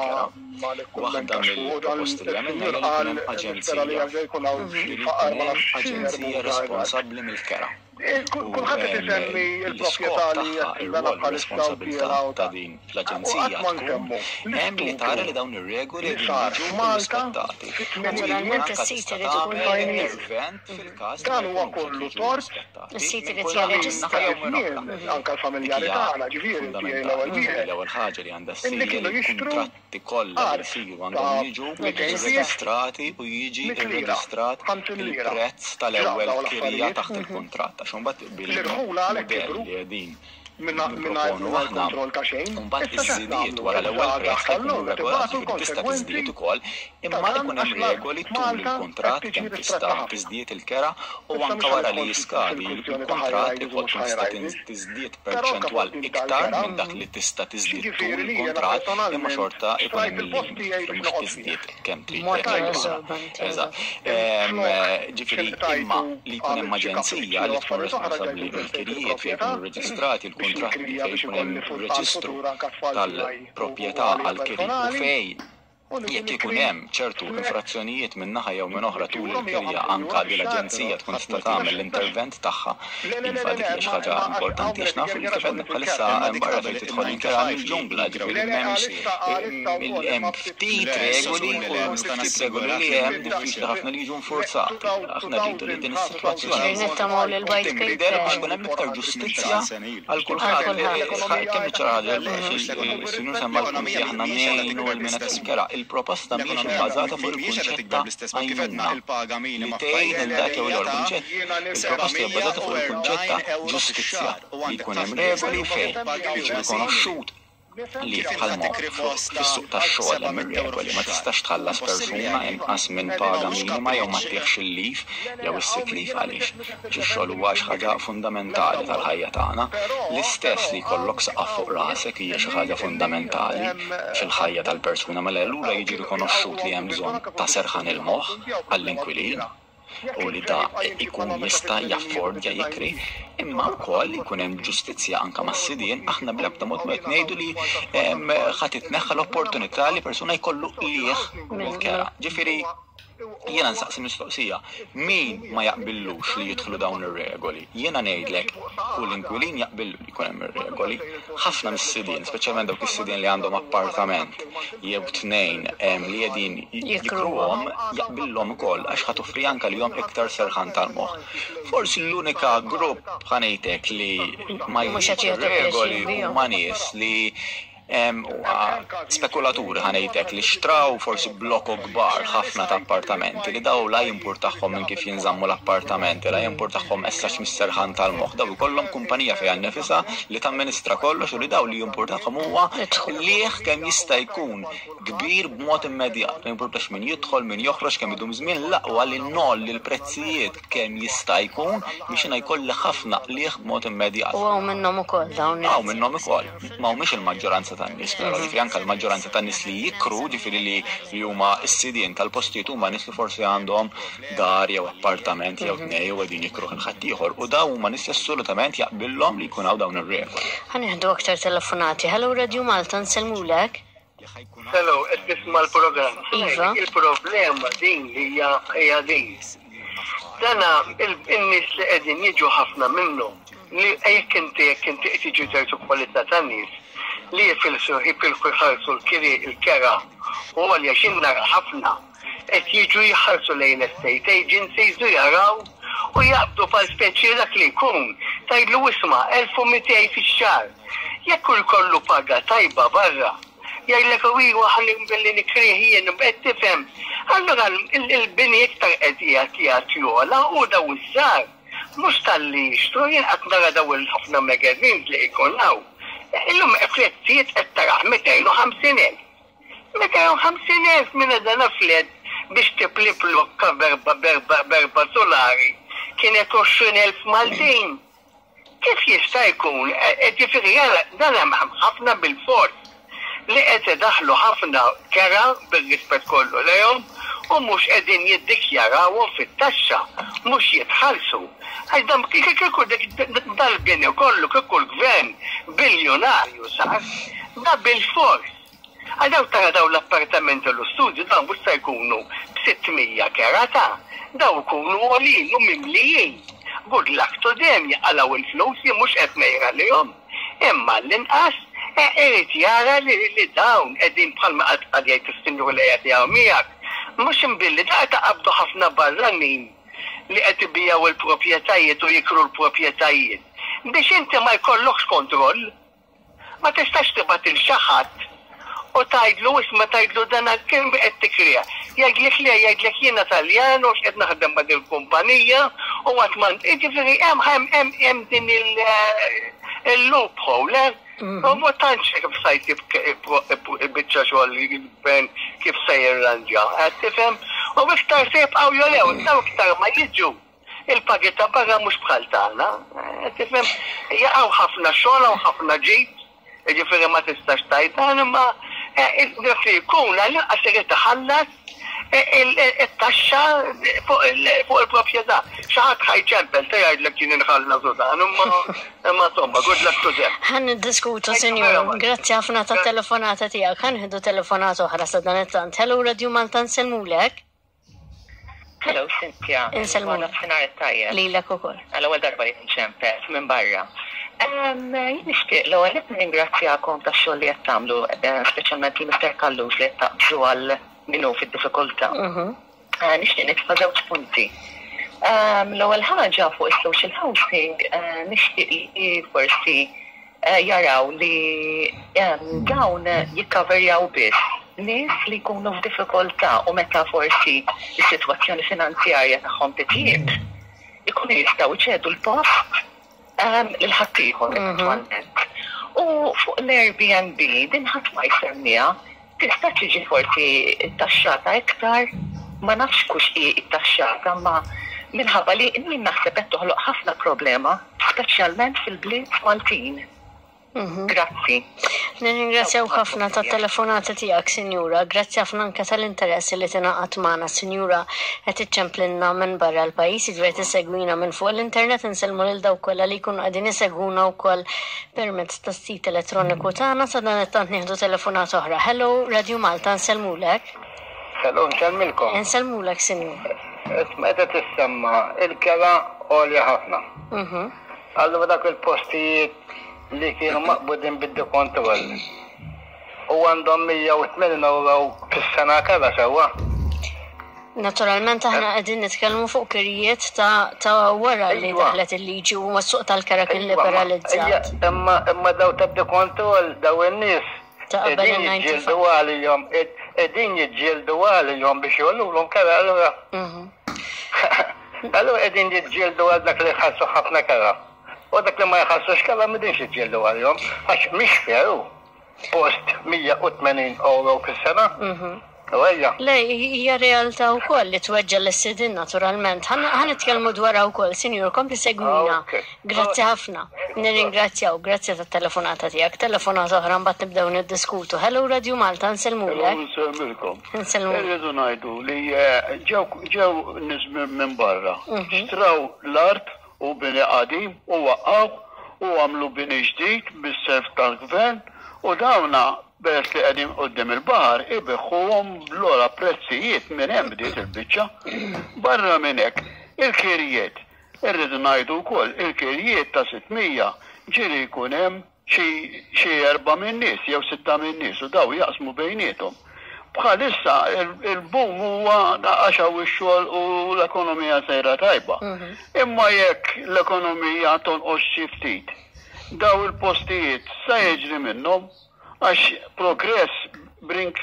ma Waħda mill-proposti li għamilna hija li jkun hemm nispera li aġenzija. jerġa' jkun hawn xi Li faqar jkun ma hemm nafx aġenzija responsabbli mill-kera. Kulħadd qed isemmi L-iskop l-proprjetà li tagħha, qed tinbena ir-rwol u bħalissa u r-responsabilità tiela u ta' ta' din u l-aġenzija qatt ma tkun nsemmu hemm li tara l-istupru li dawn ir-regoli li qegħdin sar jiġu f'Malta rispettati. U li fit-tmeninijiet Naturalment anke is-sit tista' irid ikun tagħmel tajjeb. intervent fil-każ li ma Dan huwa jkunux qed kollu jiġu tort rispettati Is-sit minn irid kull naħa jirreġistra. jew minn oħra. żmien anke Dik l-familjari hija tagħna, ġifieri tiegħi l-ewwel fundamentali. Ġifieri wieħed, l-ewwel ħaġa li għandha ssir illi hija kienu li jixtru l-kuntratti kollha li art jsiru ta' għandhom jiġu mitejn pies irreġistrati u jiġi mitt lira, irreġistrat ħamsin lira. il-prezz Ġraw tal-ewwel dawn kirja l-affarijiet. taħt il-kuntratt. Għax imbagħad L-irħula għalhekk bil-mudell kibru. li qegħdin Nipproponu aħna mbagħad iż-żidiet wara l-ewwel prezz ħa jkunu regolati, ġifieri tista' tiżdied ukoll, imma jkun hemm regoli tul il-kuntratt kemm tista' tiżdied il-kera u anke wara li jiskadi il-kuntratt ikoll tkun tista' tiżdied perċentwal iktar minn dak li tista' tiżdied tul il-kuntratt, imma xorta ikun hemm il-limit, ġifieri mhux tiżdied kemm trid. Eżatt. Ġifieri imma li jkun hemm aġenzija li tkun responsabbli mill-kirjiet fejn ikunu rreġistrati l-kuntratti, fejn ikun hemm reġistru tal-proprjetà għall-kiri u fejn jekk ikun hemm ċertu infrazzjonijiet minn naħa jew minn oħra tul il-kirja anka li l-aġenzija tkun tista' tagħmel l-intervent tagħha. Iva, dik hija xi ħaġa importanti għax nafu li kif għedna bħalissa hemm barra fejn tidħol il-kera mill-ġungla, ġifieri m'hemmx hemm ftit regoli u ftit regoli li hemm diffiċli ħafna li jiġu nfurzati. Aħna rridu li din is-sitwazzjoni Nittamaw li l-white tinbidel biex paper ikun hemm iktar ġustizzja għal kulħadd. Kemm iċ-ċara ħaġa, is-sinjur semma l-punt li aħna ngħinu lil min qed jinkera. Il-proposta mhijiex ibbażata fuq il-kunċett ta' għajnuna li tgħin lil dak jew l-ieħor. Il-proposta hija bbażata fuq il-kunċett ta' ġustizzja li jkun hemm regoli fejn jiġi rikonoxxut li bħalma fis-suq tax-xogħol hemm ir-regoli, ma tistax tħallas persuna inqas minn paga minima jew ma ttieħx il-leave jew is-sick leave. Għaliex? Għax ix-xogħol huwa xi ħaġa fundamentali tal-ħajja tagħna. L-istess li jkollok saqaf fuq rasek hija xi ħaġa fundamentali fil-ħajja tal-persuna, mela allura jiġi rikonoxxut li hemm bżonn ta' serħan il-moħħ għall-inkwilin u li da ikun jista' jaffordja jikri, imma wkoll jkun hemm ġustizzja anke mas-sidien. Aħna bl-ebda mod ma qed ngħidu li ħa titneħħa l-opportunità li persuna jkollu qligħ mill-kera. Ġifieri jiena nsaqsi mistoqsija, min ma jaqbillux li jidħlu dawn ir-regoli? Jiena ngħidlek kull inkwilin jaqbillu li jkun hemm ir-regoli. Ħafna mis-sidien, speċjalment dawk is-sidien li għandhom appartament jew tnejn li qegħdin jikruhom, jaqbillhom ukoll għax ħa toffri anke lilhom iktar serħan tal-moħħ. Forsi l-unika grupp, ħa ngħidlek, li ma Mhux qed jridx jieħdu ir-regoli pjaċir bihom. huma nies li spekulaturi, ħa ngħidlek, li xtraw forsi blokok kbar ħafna ta' appartamenti li daw la jimpurtahom minn kif jinżammu l-appartamenti, la jimpurtahom essax mis-serħan tal-moħħ. Daw ikollhom kumpanija fejn nifisha li tamministra kollox u li daw li jimpurtahom huwa qligħ kemm jista' jkun kbir b'mod immedjat. Ma jimpurtax min jidħol, min joħroġ, kemm idum żmien, l-aqwa li ngħolli l-prezzijiet kemm jista' jkun biex jiena jkolli ħafna qligħ b'mod immedjat. U hawn minnhom ukoll dawn. Hawn minnhom ukoll. Ma humiex il-maġġoranza tan-nies, però ġifieri anke l-maġġoranza tan-nies li jikru, ġifieri li li huma s-sidien tal-postijiet, huma nies li forsi għandhom dar jew appartament jew tnejn u qegħdin jikru lil ħaddieħor u dawn huma nies li assolutament jaqbillhom li jkun hawn dawn ir-regoli. Ħa nieħdu aktar telefonati. Hello, Radio Malta, nsellmulek. Hello, qed tisma' l-programm. Iva. Il-problema din li hija hija din. Dana il-nies li qegħdin jiġu ħafna minnhom li jekk inti jekk inti qed jiġu ċertu kwalità tan-nies li jifilsu jifilku jħallsu l-kiri il-kera u għalja xinnar ħafna qed jiġu jħallsu lejn estate agencies u jaraw u jaqbdu pal speċi dak li jkun tgħidlu isma' elf u mitejn fix-xahar. Jekk hu jkollu paga tajba barra, jgħidlek u iwa ħalli billi nikrih jien, qed tifhem. Allura il-bini iktar qed qiegħed jagħti jogħla u daw iż-żgħar mhux talli jixtru. Jien qatt nara daw il-ħafna magazines li jkun hawn. Illum prezzijiet qed taraħ mitejn u ħamsin elf. mitejn u ħamsin elf minn dan flat biex tipli blokka b'erba' b'erba' b'erba' solari kienet għoxrin elf Maltin. Kif jista' jkun? Ġifieri dan hemm ħafna bil-fors li qed idaħlu ħafna kera, bil-rispett kollu lejhom, u mhux qegħdin jiddikjarawhom fit-taxxa, mhux jitħallsu. Għax dan kieku dal-bini kollu kieku l-gvern biljonarju sar, da bil-fors. Għax daw tara daw l-appartamenti u l-studju dawn mhux se jkunu b'sitt mija kera ta' daw ikunu għolin u mimlijin. Good luck to them, jaqalaw il-flus, jien mhux qed ngħira lihom. Imma l-inqas irid jara li li dawn qegħdin bħalma qatt qal jgħid is-sinjur li qed jgħu miegħek. Mhux imbilli da taqabdu ħafna barranin li qed ibijaw il-proprjetajiet u jikru l-proprjetajiet. Biex inti ma jkollokx kontroll, ma tistax tibgħat il xi ħadd u tgħidlu isma', tgħidlu dan kemm qed tikrija. Jgħidlek le, jgħidlek jiena Taljan u x'qed naħdem ma' din kumpanija u għat man. Ġifieri hemm hemm hemm hemm din il Il-loophole, eh? U ma tantx kif sa jsib biċċa xogħol il-gvern kif se jirranġa. Qed tifhem? U iktar se jibqgħu jolew, daw iktar ma jiġu. Il-pagi ta' barra mhux bħal tagħna. Qed tifhem? Jaqgħu ħafna xogħol hawn ħafna ġid, jiġifieri ma tistax tgħid dan imma dak li jkun għall-inqas irid iħallas it-taxxa fuq il-proprjetà. Xi ħadd ħa jċempel se jgħidlek jien inħallas u dan, imma imma insomma, good luck to them. Ħa niddiskutu, sinjur. Grazzi ħafna ta' telefonata tiegħek. Ħa nieħdu telefonata oħra sa dan it-tant. Hello, Radio Malta, nsellmulek. Hello, Cynthia. Insellmulek. Nofsinhar it-tajjeb. Lilek ukoll. Għal-ewwel darba li nċempel minn barra. Jien nixtieq l-ewwel qed nirringrazzjakom tax-xogħol li qed tagħmlu, eh, speċjalment lil Mister Callus li qed taqbżu għal min hu fid-diffikultà. Eh, Nixtieq nitfa' żewġ punti. L-ewwel ħaġa fuq is-social housing, eh, nixtieq li forsi eh, jaraw li dawn jikkaverjaw biss nies li jkunu f'diffikultà u meta forsi is-sitwazzjoni finanzjarja tagħhom titjib, ikunu jistgħu jċedu l-post lil ħaddieħor eventwalment. U fuq l-Airbnb din ħadd ma jsemmiha, tista' tiġi forsi taxxata iktar, ma nafx kux hi taxxata, ma minħabba li min naħseb qed toħloq ħafna problema, speċjalment fil-bliet Maltin. Grazzi. Nirringrazzjaw ħafna ta' telefonata tiegħek, Sinjura. Grazzi ħafna anke tal-interess li tingħaqad magħna, Sinjura. Qed iċċemplinna minn barra l-pajjiż, jiġifieri tissegwina minn fuq l-internet, insellmu lil dawk kollha li jkunu qegħdin isegwuna wkoll permezz tas-sit elettroniku tagħna. Sa dan it-tant nieħdu telefonata oħra. Hello, Radio Malta, nsellmulek. Hello, nsellmilkom. Insellmulek, Sinjura. Meta tissemma il-kera għolja ħafna. Mhm. Allura dak il-postijiet li kienu maqbudin bid-dekontroll u għandhom mija u tmenin euro fis-sena kera sewwa. Naturalment aħna qegħdin nitkellmu fuq kirjiet ta' ta' wara li Iva. daħlet il-liġi u s-suq tal-kera kien Iva, ma- liberalizzat. ija, Imma imma daw ta' dekontroll daw in-nies Ta' qabel qegħdin il-disgħa u disgħin. jiġġieldu għalihom qegħdin jiġġieldu għalihom biex jgħollulhom kera allura. Mhm. Allura qegħdin jiġġieldu għal dak li jħallsu ħafna kera. U dak li ma jħallsux kera m'qegħdinx jiġġieldu għalihom għax mhix fair hu. Post mija u tmenin euro fis-sena. Mhm. U ejja. Le, hija realtà wkoll li tweġġa' lis-sidien naturalment. Ħa nitkellmu dwarha wkoll, sinjur, kompli segwina. Ok. Grazzi ħafna. Nirringrazzjaw, grazzi tat-telefonata tiegħek. Telefonata oħra mbagħad nibdew niddiskutu. Hello, Radio Malta, nsellmulek. Nsellmilkom. Nsellmulek. Irridu ngħidu li eh, ġew ġew nies minn minn barra. Xtraw l-art u bini qadim u waqqaw u għamlu bini ġdid bis-self tal-gvern u dawna peress li qegħdin quddiem il-baħar ibigħuhom bl-ogħla prezzijiet minn hemm bdiet il-biċċa. Barra minn hekk, il-kirjiet. Irridu ngħidu wkoll il-kirjiet ta' sitt mija ġieli jkun hemm xi xi erba' minn nies jew sitta minn nies u daw jaqsmu bejniethom. Bħalissa il- il-boom huwa għax hawn ix-xogħol u l-ekonomija sejra tajba. Imma jekk l-ekonomija tonqos xi ftit, daw il-postijiet sa jiġri minnhom għax progress brings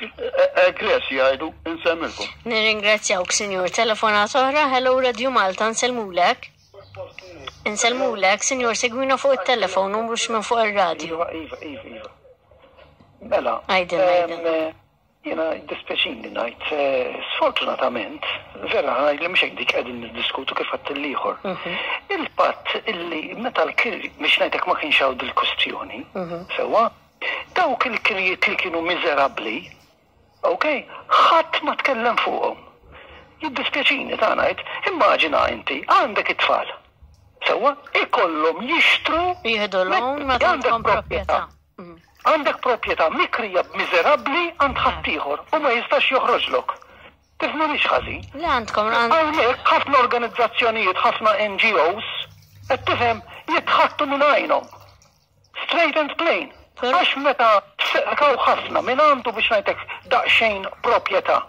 egress jgħidu. Insellmilkom. Nirringrazzjawk, sinjur. Telefonata oħra, hello, Radio Malta, nsellmulek. Insellmulek, sinjur, segwina fuq il-telefon u mhux minn fuq il-radio. Iva, iva, iva, iva. Mela. Għidilna, em, għidilna. eh, Jiena jiddispjaċini ngħid, eh, sfortunatament, vera li mhux hekk dik qegħdin niddiskutu kif għadt l-ieħor. Il-fatt illi meta l-kiri, biex ngħidlek ma kienx hawn dil-kustjoni, sewwa, dawk il-kirjiet li kienu miżerabbli, ok, ħadd ma tkellem fuqhom. Jiddispjaċini ta' ngħid, immaġina inti għandek it-tfal. Sewwa, ikollhom jixtru Jieħdu loan meta għandek għandkom proprjetà. Għandek proprjetà mikrija b'miżerabbli għand ħaddieħor u ma jistax joħroġlok. Tifhimnix ħażin. Le għandkom għand Hawnhekk ħafna organizzazzjonijiet, ħafna N G Os, qed tifhem, jitħattu minn għajnhom. Straight and plain. Però- Għax meta tfeqkaw ħafna minn għandu biex ngħidlek daqsxejn proprjetà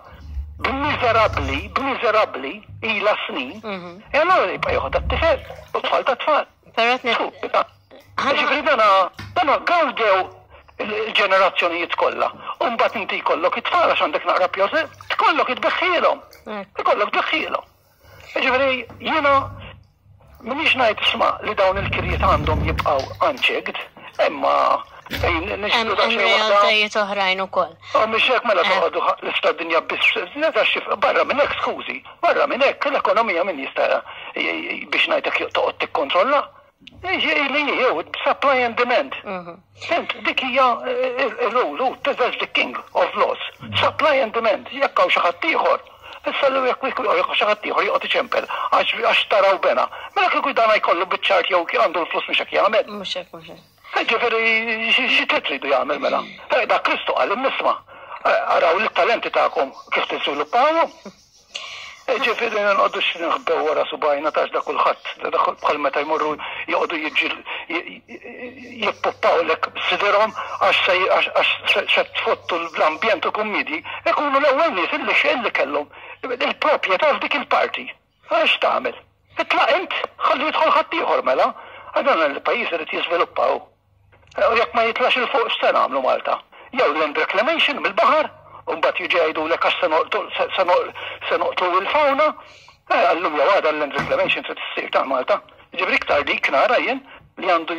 b'miżerabbli, b'miżerabbli ila snin, e allora jibqa' joħodha t-tifel u tfal ta' tfal. Però qed Ġifieri dana dana gawdew il-ġenerazzjonijiet kollha. U mbagħad inti jkollok it-tfal għax għandek naqra pjose, tkollok itbeħħilhom. Ekku. Ikollok tbeħħilhom. Ġifieri jiena M'iniex ngħid, isma', li dawn il-kirjiet għandhom jibqgħu unchecked, imma Hemm realtajiet oħrajn ukoll. Oh, mhix hekk mela toqgħodu l-istra dinja biss, barra minn hekk, skużi, barra minn hekk l-ekonomija min jista' biex ngħidlek toqgħod tikkontrolla? Li jew supply and demand. Fhimt, dik hija il-rule, that's the king of laws. Supply and demand, jekk hawn xi ħadd ieħor. Issa li jekk xi ħadd ieħor joqgħod iċempel għax taraw bena. Mela kieku dan jkollu biċ-ċart jew għandu l-flus, mhux hekk jagħmel. Mhux hekk, mhux hekk. Ġifieri xi tridu jagħmel mela? Da Kristu qal nisma'. Araw l-talenti tagħkom kif tiżviluppawhom. Ġifieri nqogħdux nħbew wara subajna tax da kulħadd, da bħal meta jmorru joqogħdu jiġi jippuppawlek sidirhom għax se tfottu l-ambjent u kummidi, ikunu l-ewwel nies illi illi kellhom il-proprjetà f'dik il-parti. Għax tagħmel? Itlaq int, ħalli jidħol ħadd ieħor mela. Għadan il-pajjiż irid jiżviluppaw. U jekk ma jitlax 'il fuq, x'se nagħmlu Malta? Jew land reclamation mill-baħar, u mbagħad jiġi jgħidulek għax se noqtlu il-fauna, għallum jew għada l-land reclamation trid issir ta' Malta. Ġifieri iktar dik nara jien li għandu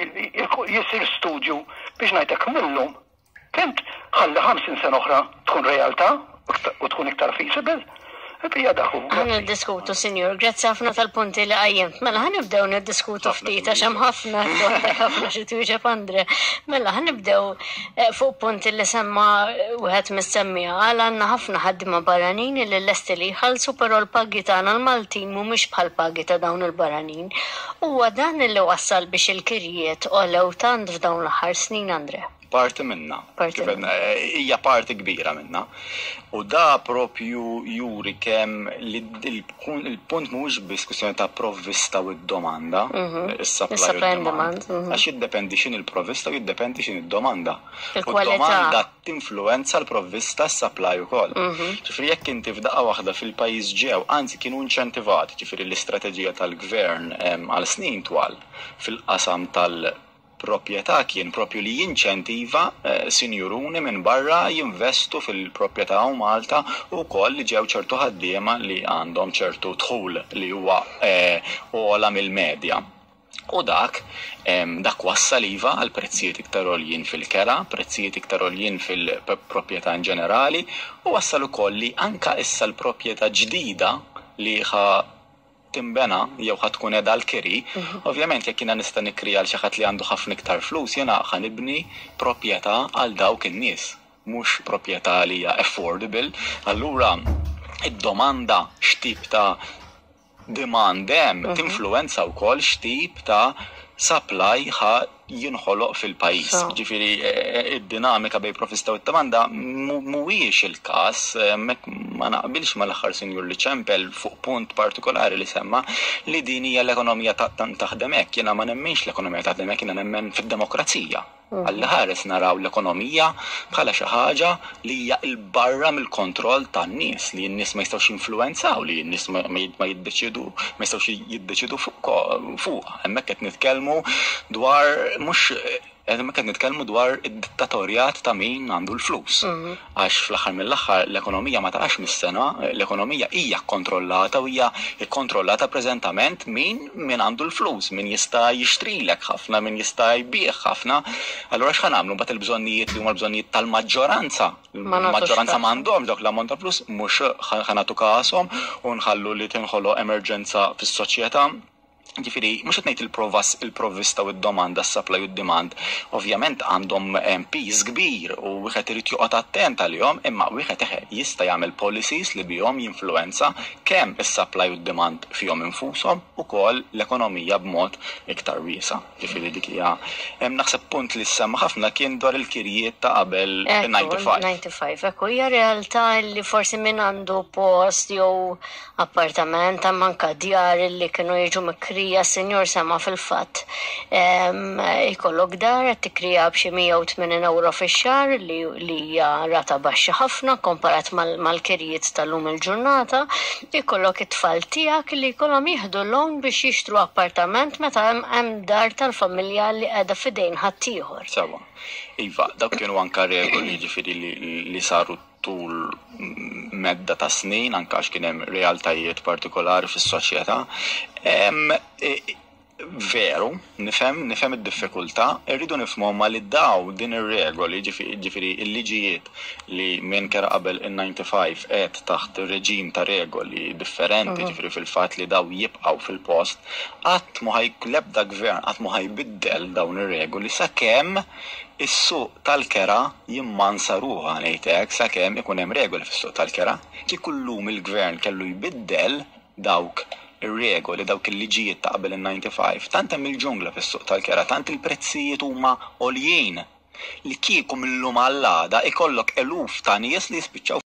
jisir studju biex ngħidlek millum. Fhimt, ħalli ħamsin sena oħra tkun realtà u tkun iktar feasible. Hija daħu. Ħa niddiskutu, sinjur, grazzi ħafna tal-punti li qajjimt. Mela, ħa nibdew niddiskutu ftit, għax hemm ħafna, ħafna xi twieġeb Andre. Mela, ħa nibdew eh, fuq punti li semma wieħed mis-semmija. Għal għandna ħafna ħaddiema barranin li lesti li jħallsu, però l-pagi tagħna l-Maltin mhumiex bħal pagi ta' dawn il-barranin. Huwa dan li wassal biex il-kirjiet għolew tant f'dawn l-aħħar snin, Andre? Parti minna. Parti. Kif għedna, hija parti kbira minna. U da propju juri kemm li il-punt mhuwiex biss kwistjoni ta' provvista u d-domanda, is-supply u Is-supply and d-demand. demand, mhm. Għax jiddependi x'inhi l-provvista u jiddependi x'inhi d-domanda. U Il-kwalità. d-domanda tinfluenza l-provvista, s-supply ukoll. Ġifieri jekk inti f'daqqa waħda fil-pajjiż ġew, anzi kienu inċentivati, ġifieri l-istrateġija tal-gvern em, għal snin twal fil-qasam tal- proprjetà kien propju li jinċentiva eh, sinjuruni minn barra jinvestu fil-proprjetà u Malta u koll li ġew ċertu ħaddiema li għandhom ċertu dħul li huwa eh, ogħla mill-medja. U dak, em, dak wassal iva għal prezzijiet iktar għoljin fil-kera, prezzijiet iktar għoljin fil-proprjetà in ġenerali, u wassal ukoll li anka issa l-proprjetà ġdida li ħa timbena jew ħa tkun qiegħda l-kiri, ovvjament jekk jiena nista' nikri għal xi ħadd li għandu ħafna iktar flus, jiena ħa nibni proprjetà għal dawk in-nies, mhux proprjetà li hija affordable. Allura id-domanda, x'tip ta' demand hemm, tinfluwenza wkoll x'tip ta' supply ħa jinħoloq fil-pajjiż. So. Ġifieri eh, id-dinamika bejn provvista u d-domanda mu- mhuwiex il-każ, hemmhekk ma naqbilx mal-aħħar sinjur li ċempel fuq punt partikolari li semma li din hija l-ekonomija ta' ta- taħdem hekk. Jiena ma nemminx l-ekonomija taħdem hekk, jiena nemmen fid-demokrazija. Alla ħares naraw l-ekonomija bħala xi ħaġa li hija 'l barra mill-kontroll tan-nies, li n-nies ma jistgħux jinfluwenzaw, li n-nies ma ma ma jiddeċidu, ma jistgħux jiddeċidu fuq fuq. Hemmhekk qed nitkellmu dwar mhux hemmhekk qed nitkellmu dwar id-dittatorjat ta' min għandu l-flus. Għax fl-aħħar mill-aħħar l-ekonomija ma taqax mis-sena, l-ekonomija hija kontrollata u hija kontrollata preżentament min min għandu l-flus, min jista' jixtrilek ħafna, min jista' jbigħ ħafna. Allura x'ħa nagħmlu mbagħad il-bżonnijiet li huma l-bżonnijiet tal-maġġoranza? Ma nagħtux Il-maġġoranza każ. m'għandhomx dawk l-ammont ta' flus, mhux ħa nagħtu kashom u nħallu li tinħoloq emerġenza fis-soċjetà. Ġifieri, mhux qed ngħid il-provas, il-provvista u d-domanda, s-supply u d-demand, ovvjament għandhom em, piż kbir u wieħed irid joqgħod attent għalihom, imma wieħed eħe jista' jagħmel policies li bihom jinfluwenza kemm is-supply u d-demand fihom infushom ukoll l-ekonomija b'mod iktar wiesa'. Ġifieri dik hija hemm naħseb punt li semma ħafna kien dwar il-kirjiet ta' qabel Ekku, disgħa u disgħin. disgħa u disgħin, ekku, hija realtà li forsi min għandu post jew appartament, anka djar li kienu jiġu mikrija, sinjur sema fil-fatt. Em, Ikollok dar qed tikrija b'xi mija u tmenin euro fix-xahar li li hija rata baxxa ħafna komparat mal- mal-kirjiet tal-lum il-ġurnata. Ikollok it-tfal tiegħek li jkollhom jieħdu loan biex jixtru appartament meta hemm hemm dar tal-familja li qiegħda f'idejn ħaddieħor. Sewa. Iva, dawk kienu anka regoli ġifieri li, li saru tul medda ta' snin, anka għax kien hemm realtajiet partikolari fis-soċjetà. Em, e, Veru, nifhem, nifhem id-diffikultà, irridu nifhmu ma li daw din ir-regoli, ġifieri il-liġijiet li minn kera qabel in-ħamsa u disgħin qed taħt reġim ta' regoli differenti, ġifieri fil-fatt li daw jibqgħu fil-post, qatt ma ħaj l-ebda gvern qatt ma ħajbiddel dawn ir-regoli sakemm is-suq tal-kera jimmansa ruħha, ngħidlek, sakemm ikun hemm regoli fis-suq tal-kera. Kieku llum il-gvern kellu jbiddel dawk ir-regoli, dawk il-liġijiet ta' qabel in-ħamsa u disgħin, tant hemm il-ġungla fis-suq tal-kera, tant il-prezzijiet huma għoljien li kieku millum għall-għada ikollok eluf ta' nies li jispiċċaw